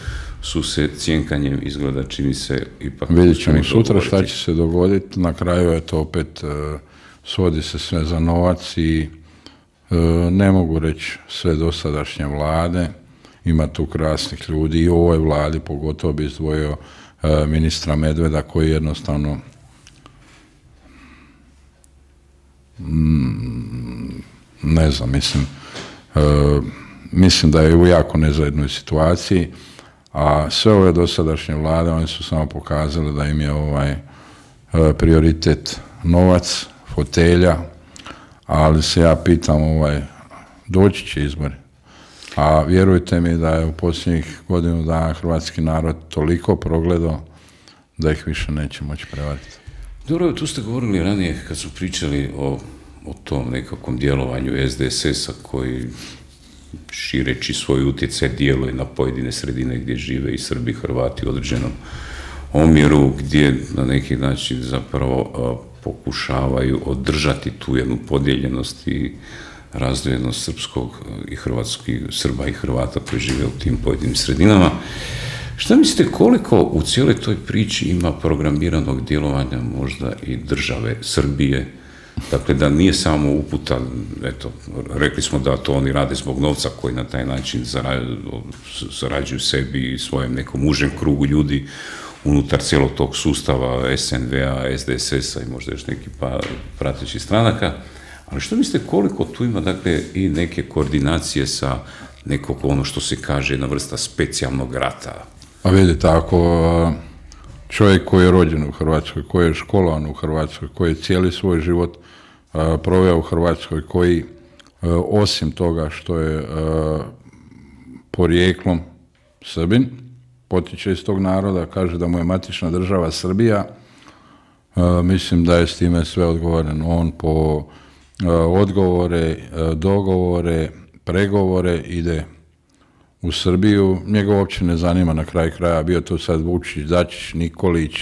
su se cjenkanjem izgleda čini se ipak... Vidjet ćemo sutra šta će se dogoditi, na kraju je to opet, uh, svodi se sve za novac i uh, ne mogu reći sve dosadašnje vlade, ima tu krasnih ljudi i u ovoj vladi pogotovo bi izdvojio uh, ministra Medveda koji jednostavno ne znam, mislim, e, mislim da je u jako nezajednoj situaciji, a sve ove dosadašnje vlade, one su samo pokazale da im je ovaj e, prioritet novac, fotelja, ali se ja pitam, ovaj, doći će izbori. A vjerujte mi da je u posljednjih godinu dana hrvatski narod toliko progledao da ih više neće moći prevariti. Dobro, tu ste govorili ranije kad su pričali o, o tom nekakvom djelovanju es de es esa koji šireći svoj utjecaj djeluje na pojedine sredine gdje žive i Srbi i Hrvati u određenom omjeru gdje na neki način zapravo pokušavaju održati tu jednu podijeljenost i razdvojenost srpskog i hrvatskih, Srba i Hrvata koji žive u tim pojedinim sredinama. Šta mislite koliko u cijeloj toj priči ima programiranog djelovanja možda i države Srbije? Dakle, da nije samo uputa, eto, rekli smo da to oni rade zbog novca koji na taj način zarađuju sebi i svojem nekom užem krugu ljudi unutar cijelog tog sustava S N V-a, S D S S-a i možda još neki pa pratećih stranaka. Ali što mislite koliko tu ima, dakle, i neke koordinacije sa nekog, ono što se kaže, jedna vrsta specijalnog rata? A vidite, ako čovjek koji je rođen u Hrvatskoj, koji je školovan u Hrvatskoj, koji je cijeli svoj život proveo u Hrvatskoj, koji osim toga što je porijeklom Srbin, potiče iz tog naroda, kaže da mu je matična država Srbija, mislim da je s time sve odgovoreno. On po odgovore, dogovore, pregovore ide u Srbiju, njega uopće ne zanima na kraj kraja, bio to sad Vučić, Dačić, Nikolić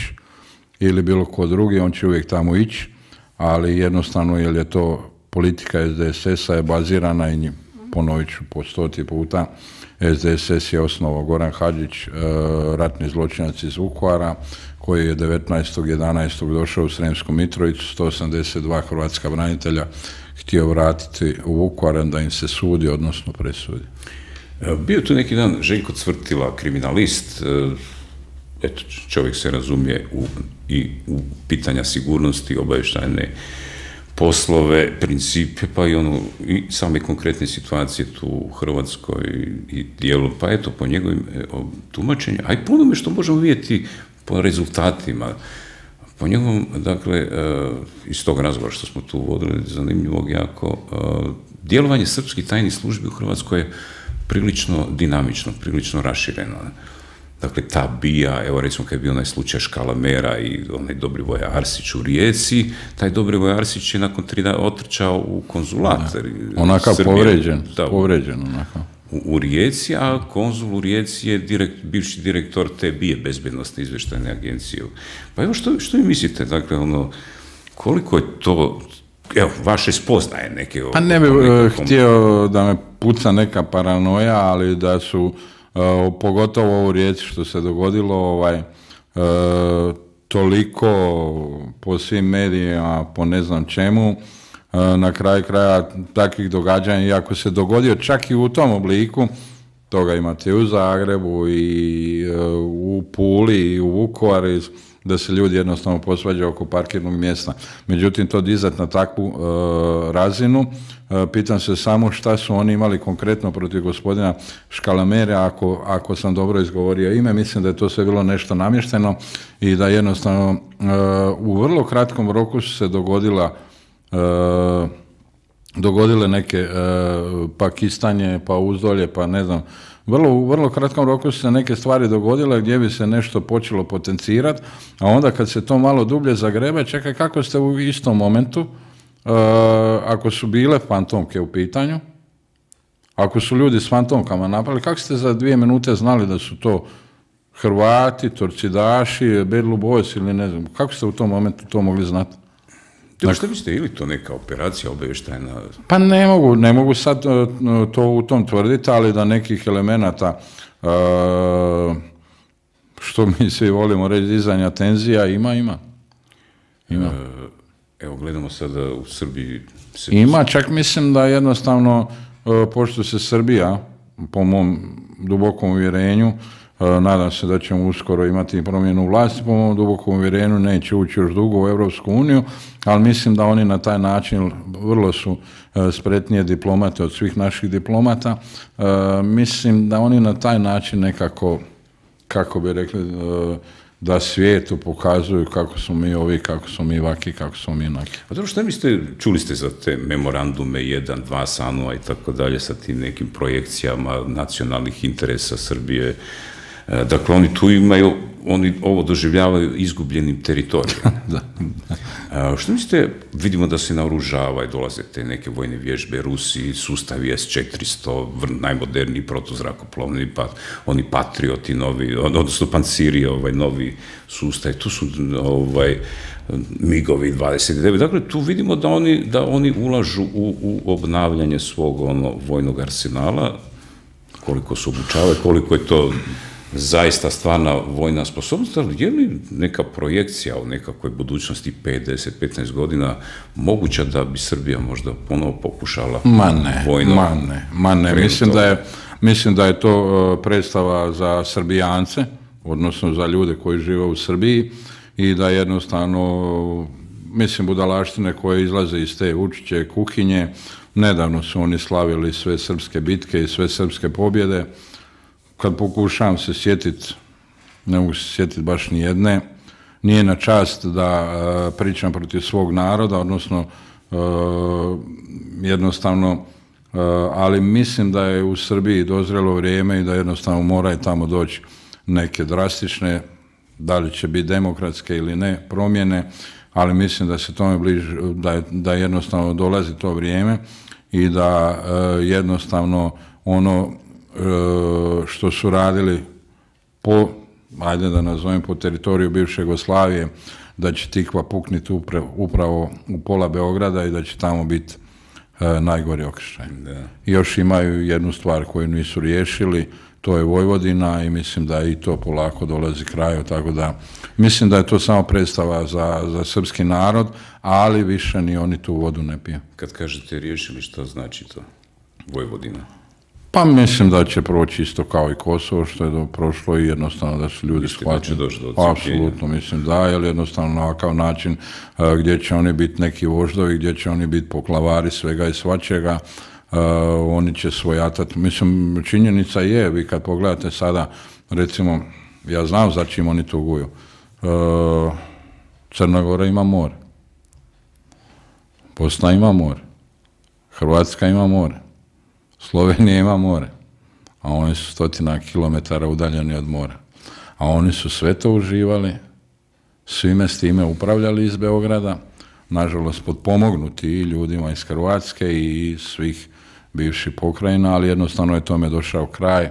ili bilo ko drugi, on će uvijek tamo ići, ali jednostavno jer je to politika S D S S-a je bazirana i ponovit ću po stoti puta, S D S S je osnovao Goran Hadžić, ratni zločinac iz Vukovara, koji je devetnaestog jedanaestog došao u Sremsku Mitrovicu, sto osamdeset dva hrvatska branitelja htio vratiti u Vukovar da im se sudi, odnosno presudi. Bio tu neki dan Željko Cvrtila, kriminalist, eto, čovjek se razumije u, i u pitanja sigurnosti, obavještajne poslove, principe, pa i ono, i same konkretne situacije tu u Hrvatskoj i dijelu, pa eto, po njegovim tumačenju, a i po onome što možemo vidjeti po rezultatima, po njegovom, dakle, iz tog razgovora što smo tu vodili, zanimljivog jako, djelovanje srpskih tajnih službi u Hrvatskoj je prilično dinamično, prilično rašireno. Dakle, ta bija, evo recimo kad je bio onaj slučaj Škalamera i onaj Dobrivoj Arsić u Rijeci, taj Dobrivoj Arsić je nakon tri dana otrčao u konzulat. Onakav povređen, povređen onakav. U Rijeci, a konzul u Rijeci je direkt, bivši direktor te bije, bezbjednostne izvještajne agencije. Pa evo, što, što vi mislite, dakle, ono, koliko je to, evo, vaše spoznaje neke... Pa ne bih htio da me puca neka paranoja, ali da su, uh, pogotovo u Rijeci što se dogodilo, ovaj, uh, toliko po svim medijima, po ne znam čemu, uh, na kraju kraja takvih događanja, iako se dogodio čak i u tom obliku, toga imate i u Zagrebu, i uh, u Puli, i u Vukovaru, da se ljudi jednostavno posvađaju oko parkirnog mjesta. Međutim, to dizati na takvu uh, razinu, uh, pitam se samo šta su oni imali konkretno protiv gospodina Škalamere, ako, ako sam dobro izgovorio ime, mislim da je to sve bilo nešto namješteno i da jednostavno uh, u vrlo kratkom roku su se dogodila uh, dogodile neke uh, pa kistanje, pa uzdolje, pa ne znam, Vrlo, u vrlo kratkom roku su se neke stvari dogodile gdje bi se nešto počelo potencirati, a onda kad se to malo dublje zagrebe, čekaj kako ste u istom momentu, uh, ako su bile fantomke u pitanju, ako su ljudi s fantomkama napravili, kako ste za dvije minute znali da su to Hrvati, Torcidaši, Bad Blue Boys ili ne znam, kako ste u tom momentu to mogli znati? Dakle, što mislite, ili to neka operacija obavještajna? Pa ne mogu, ne mogu sad to u tom tvrditi, ali da nekih elemenata, uh, što mi svi volimo reći, dizanja tenzija, ima, ima. ima. Evo, gledamo sada u Srbiji... Se... Ima, čak mislim da jednostavno, uh, pošto se Srbija, po mom dubokom uvjerenju, Uh, nadam se da ćemo uskoro imati promjenu vlasti, po mom dubokom uvjerenju neće ući još dugo u Europsku uniju, ali mislim da oni na taj način vrlo su uh, spretnije diplomate od svih naših diplomata. Uh, mislim da oni na taj način nekako, kako bi rekli, uh, da svijetu pokazuju kako smo mi ovi, kako smo mi vaki, kako smo mi naki. A dobro, što mislite, čuli ste za te memorandume jedan, dva Sanua i tako dalje sa tim nekim projekcijama nacionalnih interesa Srbije. Dakle, oni tu imaju oni ovo doživljavaju izgubljenim teritorijem. Da. A, što mislite, vidimo da se naoružavaju, dolaze te neke vojne vježbe, Rusi, sustavi S četiristo, najmoderniji protuzrakoplovni, pa oni Patrioti novi, odnosno Panciri, ovaj novi sustav, tu su ovaj, migovi dvadeset devet. Dakle, tu vidimo da oni, da oni ulažu u, u obnavljanje svog ono, vojnog arsenala, koliko se obučavaju, koliko je to zaista stvarna vojna sposobnost, ali je li neka projekcija u nekakvoj budućnosti pet, deset, petnaest godina moguća da bi Srbija možda ponovo pokušala ma ne, vojno? Ma ne, ma ne. Mislim da je, mislim da je to predstava za Srbijance, odnosno za ljude koji žive u Srbiji i da jednostavno, mislim, budalaštine koje izlaze iz te Vučićeve kuhinje. Nedavno su oni slavili sve srpske bitke i sve srpske pobjede. Kad pokušavam se sjetiti, ne mogu se sjetiti baš ni jedne, nije na čast da uh, pričam protiv svog naroda, odnosno uh, jednostavno, uh, ali mislim da je u Srbiji dozrelo vrijeme i da jednostavno moraju tamo doći neke drastične, da li će biti demokratske ili ne, promjene, ali mislim da se tome bliže, da, je, da jednostavno dolazi to vrijeme i da uh, jednostavno ono što su radili po, ajde da nazovem, po teritoriju bivše Jugoslavije, da će Tikva pukniti upravo u pola Beograda i da će tamo biti e, najgori okršaj. Još imaju jednu stvar koju nisu riješili, to je Vojvodina i mislim da i to polako dolazi kraju, tako da mislim da je to samo predstava za, za srpski narod, ali više ni oni tu vodu ne piju. Kad kažete riješili, što znači to? Vojvodina? Pa mislim da će proći isto kao i Kosovo, što je do, prošlo i jednostavno da su ljudi shvatili. Apsolutno mislim da, jer jednostavno na ovakav način uh, gdje će oni biti neki voždovi, gdje će oni biti poklavari svega i svačega, uh, oni će svojatati. Mislim, činjenica je, vi kad pogledate sada, recimo, ja znam za čim oni tuguju. Uh, Crna Gora ima more. Bosna ima more. Hrvatska ima more. Slovenija ima more, a oni su stotina kilometara udaljeni od mora. A oni su sve to uživali, svime s time upravljali iz Beograda, nažalost potpomognuti i ljudima iz Hrvatske i svih bivših pokrajina, ali jednostavno je tome došao kraj.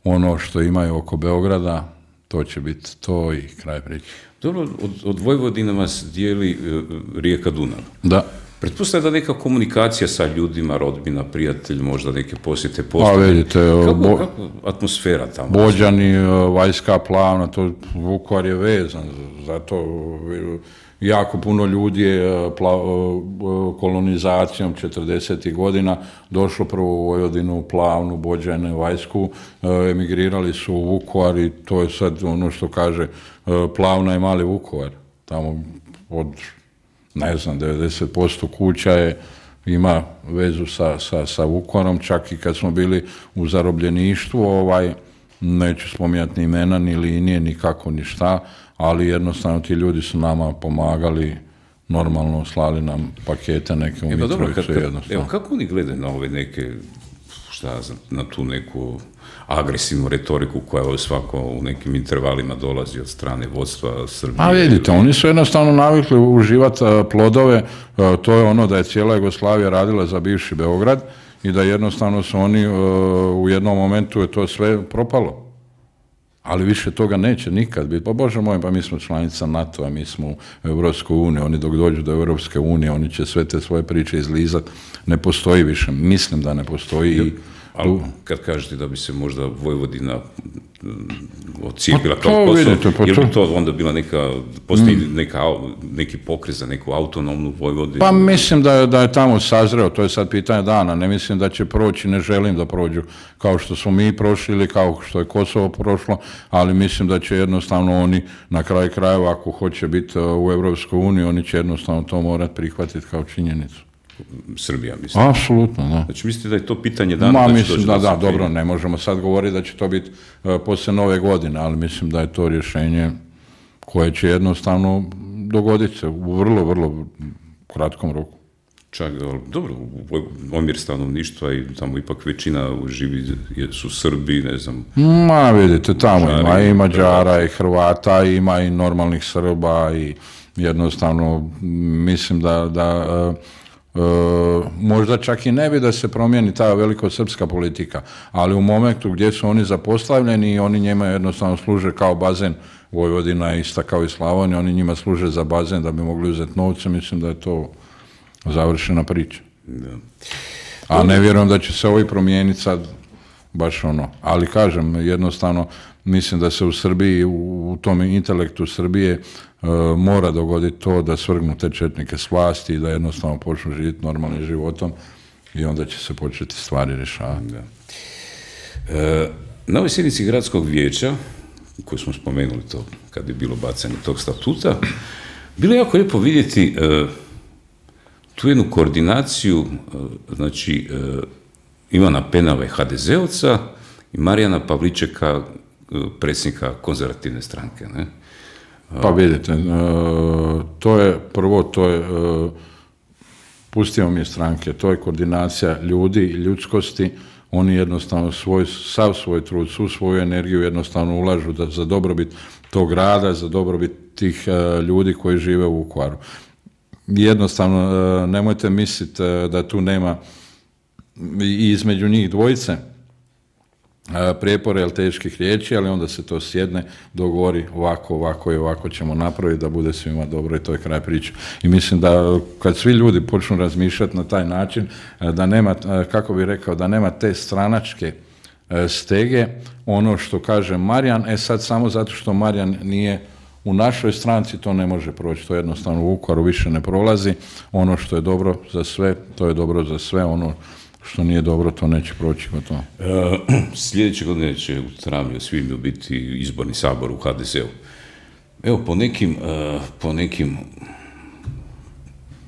Ono što imaju oko Beograda, to će biti to i kraj priče. Dobro, od, od Vojvodine vas dijeli uh, rijeka Dunav. Da. Pretpostavljam da neka komunikacija sa ljudima, rodbina, prijatelj, možda neke posjete postoje. Pa vidite, kako, bo, kako atmosfera tamo? Bođani, Vajska Plavna, to Vukovar je vezan, zato jako puno ljudi je pla, kolonizacijom četrdesetih godina došlo prvo u Vojvodinu, Plavnu, Bođane, Vajsku, emigrirali su u Vukovar i to je sad ono što kaže Plavna i Mali Vukovar, tamo od ne znam, devedeset posto kuća je, ima vezu sa, sa, sa Vukovarom, čak i kad smo bili u zarobljeništvu, ovaj, neću spominjati ni imena, ni linije, ni kako, ni šta, ali jednostavno ti ljudi su nama pomagali, normalno slali nam pakete neke u e, Mitrovicu jednostavno. Evo, kako oni gledaju na ove neke, šta znam, na tu neku agresivnu retoriku koja svako u nekim intervalima dolazi od strane vodstva Srbije? A vidite, oni su jednostavno navikli uživati plodove, to je ono da je cijela Jugoslavija radila za bivši Beograd i da jednostavno su oni u jednom momentu je to sve propalo. Ali više toga neće nikad biti. Pa Bože moj, pa mi smo članica NATO-a, mi smo u Europskoj uniji, oni dok dođu do Europske unije, oni će sve te svoje priče izlizati. Ne postoji više, mislim da ne postoji. I ali kad kažete da bi se možda Vojvodina odcijepila kao Kosovo, je li to onda bila neka, postoji neka, neki pokret za neku autonomnu Vojvodinu? Pa mislim da je, da je tamo sazreo, to je sad pitanje dana, ne mislim da će proći, ne želim da prođu kao što smo mi prošli ili kao što je Kosovo prošlo, ali mislim da će jednostavno oni na kraju krajeva, ako hoće biti u Europskoj uniji, oni će jednostavno to morati prihvatiti kao činjenicu. Srbija, mislim. Apsolutno, da. Znači, mislite da je to pitanje dana? Ma, da mislim da, da, dobro, ne možemo sad govoriti da će to biti uh, poslije nove godine, ali mislim da je to rješenje koje će jednostavno dogoditi se u vrlo, vrlo kratkom roku. čak, dobro, omjer stanovništva i tamo ipak većina živi su Srbi, ne znam. Ma vidite, tamo Mađari, ima i Mađara i Hrvata, ima i normalnih Srba i jednostavno mislim da, da uh, uh, možda čak i ne bi da se promijeni ta velikosrpska politika, ali u momentu gdje su oni zapostavljeni i oni njima jednostavno služe kao bazen, Vojvodina je ista kao i Slavonija, oni njima služe za bazen da bi mogli uzeti novce, mislim da je to završena priča. Da. A ne vjerujem da će se ovi promijeniti sad baš ono. Ali kažem, jednostavno, mislim da se u Srbiji, u, u tom intelektu Srbije uh, mora dogoditi to da svrgnu te četnike s vlasti i da jednostavno počnu živjeti normalnim životom i onda će se početi stvari rješavati. Da. E, na ovoj sjednici gradskog vijeća, koju smo spomenuli to kad je bilo bacanje tog statuta, bilo je jako lijepo vidjeti uh, tu jednu koordinaciju, znači Ivana Penave, ha de zeovca, i Marijana Pavličeka, predsjednika konzervativne stranke. Ne? Pa vidite, to je, prvo to je, pustimo mi stranke, to je koordinacija ljudi i ljudskosti, oni jednostavno svoj, sav svoj trud, svu svoju energiju jednostavno ulažu da, za dobrobit tog grada, za dobrobit tih ljudi koji žive u Vukovaru. Jednostavno, nemojte misliti da tu nema i između njih dvojice prijepore ili teških riječi, ali onda se to sjedne, dogovori ovako, ovako i ovako ćemo napraviti da bude svima dobro i to je kraj priče. I mislim da kad svi ljudi počnu razmišljati na taj način, da nema, kako bih rekao, da nema te stranačke stege, ono što kaže Marijan, e sad samo zato što Marijan nije u našoj stranci, to ne može proći, to jednostavno u Vukovaru više ne prolazi, ono što je dobro za sve, to je dobro za sve, ono što nije dobro, to neće proći gotovo. E, sljedeće godine će u travnju svibnju biti izborni sabor u ha de zeu. Evo, po nekim, uh, po nekim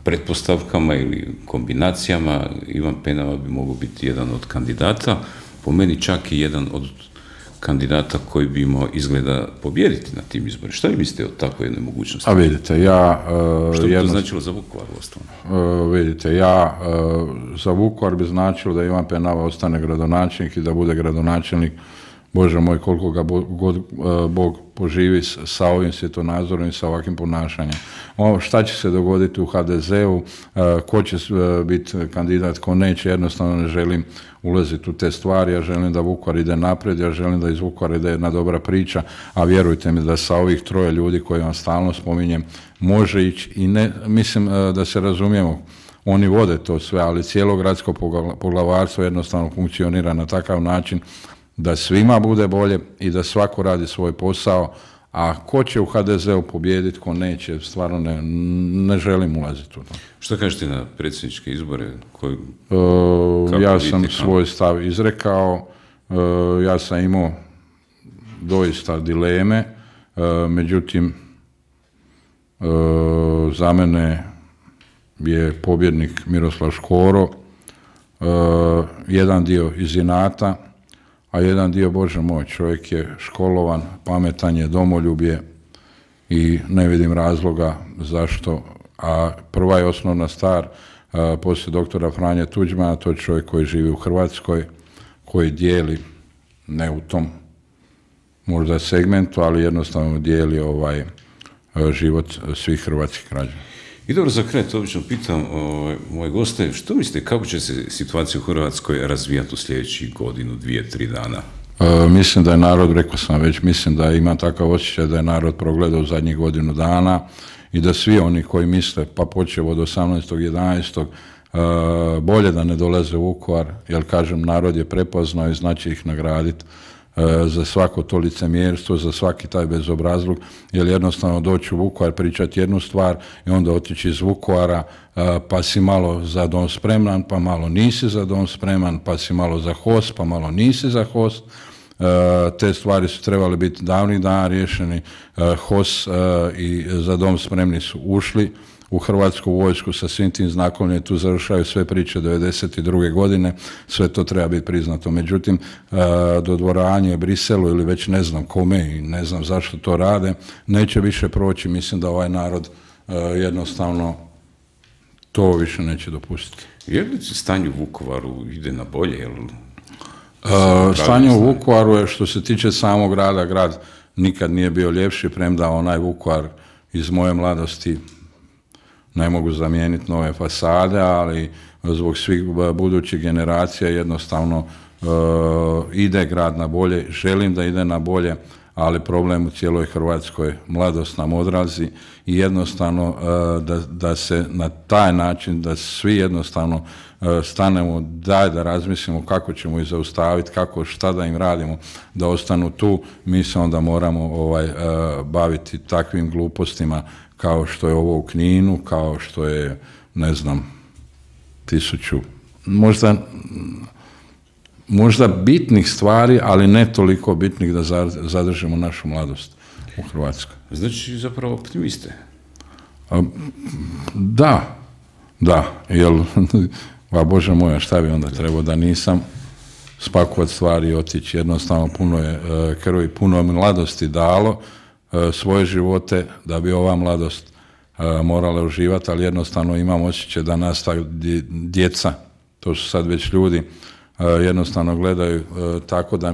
pretpostavkama ili kombinacijama Ivan Penava bi mogao biti jedan od kandidata, po meni čak i jedan od kandidata koji bi imao izgleda pobijediti na tim izborima. Šta vi mislite o takvoj jednoj mogućnosti? A vidite, ja... Uh, Što bi jedno, to značilo za Vukovar ostalo? Uh, vidite, ja uh, za Vukovar bi značilo da Ivan Penava ostane gradonačelnik i da bude gradonačelnik, Bože moj, koliko ga bo, god, uh, Bog poživi s, sa ovim svjetonazorom i sa ovakvim ponašanjem. O, šta će se dogoditi u ha de zeu, uh, ko će uh, biti kandidat, ko neće, jednostavno ne želim ulaziti u te stvari, ja želim da Vukovar ide naprijed, ja želim da iz Vukovara ide jedna dobra priča, a vjerujte mi da sa ovih troje ljudi koje vam stalno spominjem, može ići i ne, mislim uh, da se razumijemo, oni vode to sve, ali cijelo gradsko poglavarstvo jednostavno funkcionira na takav način da svima bude bolje i da svako radi svoj posao, a ko će u ha de zeu pobijediti, ko neće, stvarno ne, ne želim ulaziti u to. Što kažete na predsjedničke izbore? Koji, uh, ja sam vidite, svoj stav izrekao, uh, ja sam imao doista dileme, uh, međutim, uh, za mene je pobjednik Miroslav Škoro, uh, jedan dio iz inata, a jedan dio, Bože moj, čovjek je školovan, pametan je, domoljub je i ne vidim razloga zašto. A prva je osnovna stvar, a, poslije doktora Franje Tuđmana, to je čovjek koji živi u Hrvatskoj, koji dijeli, ne u tom možda segmentu, ali jednostavno dijeli ovaj a, život svih hrvatskih građana. I dobro, za kraj, to obično pitam ovaj, moje goste, što mislite, kako će se situacija u Hrvatskoj razvijati u sljedećih godinu, dvije, tri dana? E, mislim da je narod, rekao sam već, mislim da ima takav osjećaj da je narod progledao u zadnjih godinu dana i da svi oni koji misle, pa počev od osamnaestog jedanaestog E, bolje da ne dolaze u Vukovar, jer kažem, narod je prepoznao i znači ih nagraditi za svako to licemjerstvo, za svaki taj bezobrazluk, jer jednostavno doći u Vukovar, pričati jednu stvar i onda otići iz Vukovara, pa si malo za dom spreman, pa malo nisi za dom spreman, pa si malo za host, pa malo nisi za host. Te stvari su trebali biti davnih dana riješeni. host i za dom spremni su ušli u Hrvatsku vojsku sa svim tim znakovljem, tu završaju sve priče devedeset druge godine, sve to treba biti priznato. Međutim, dodvoravanje Briselu ili već ne znam kome i ne znam zašto to rade, neće više proći. Mislim da ovaj narod jednostavno to više neće dopustiti. Je li stanje u Vukovaru ide na bolje? Jel... Uh, stanje u Vukovaru je, što se tiče samog grada, grad nikad nije bio ljepši, premda onaj Vukovar iz moje mladosti ne mogu zamijeniti nove fasade, ali zbog svih budućih generacija jednostavno uh, ide grad na bolje. Želim da ide na bolje, ali problem u cijeloj Hrvatskoj, mladost nam odrazi i jednostavno uh, da, da se na taj način, da svi jednostavno uh, stanemo, daj da razmislimo kako ćemo ih zaustaviti, kako, šta da im radimo, da ostanu tu, mi se onda moramo ovaj, uh, baviti takvim glupostima kao što je ovo u Kninu, kao što je, ne znam, tisuću, možda, možda bitnih stvari, ali ne toliko bitnih da zadržimo našu mladost u Hrvatskoj. Znači, zapravo optimiste? A, da, da, jel, a Bože moja, šta bi onda trebao da nisam spakovati stvari i otići. Jednostavno, puno je krvi, puno je mladosti dalo svoje živote da bi ova mladost morala uživati, ali jednostavno imam osjećaj da nas ta djeca, to su sad već ljudi, jednostavno gledaju tako da,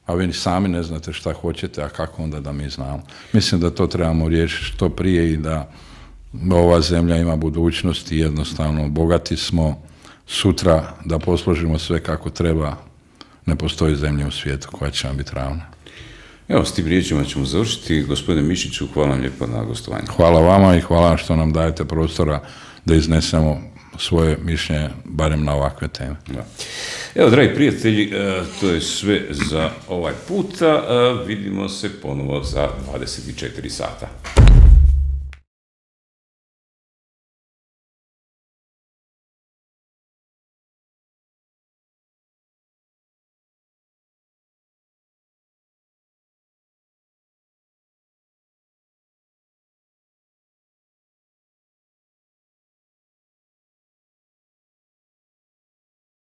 a vi sami ne znate šta hoćete, a kako onda da mi znamo. Mislim da to trebamo riješiti što prije i da ova zemlja ima budućnost i jednostavno bogati smo, sutra da posložimo sve kako treba, ne postoji zemlja u svijetu koja će vam biti ravna. Evo, s tim riječima ćemo završiti. Gospodine Mišiću, hvala vam lijepo na gostovanju. Hvala vama i hvala što nam dajete prostora da iznesemo svoje mišljenje, barem na ovakve teme. Da. Evo, dragi prijatelji, to je sve za ovaj puta. Vidimo se ponovo za dvadeset četiri sata.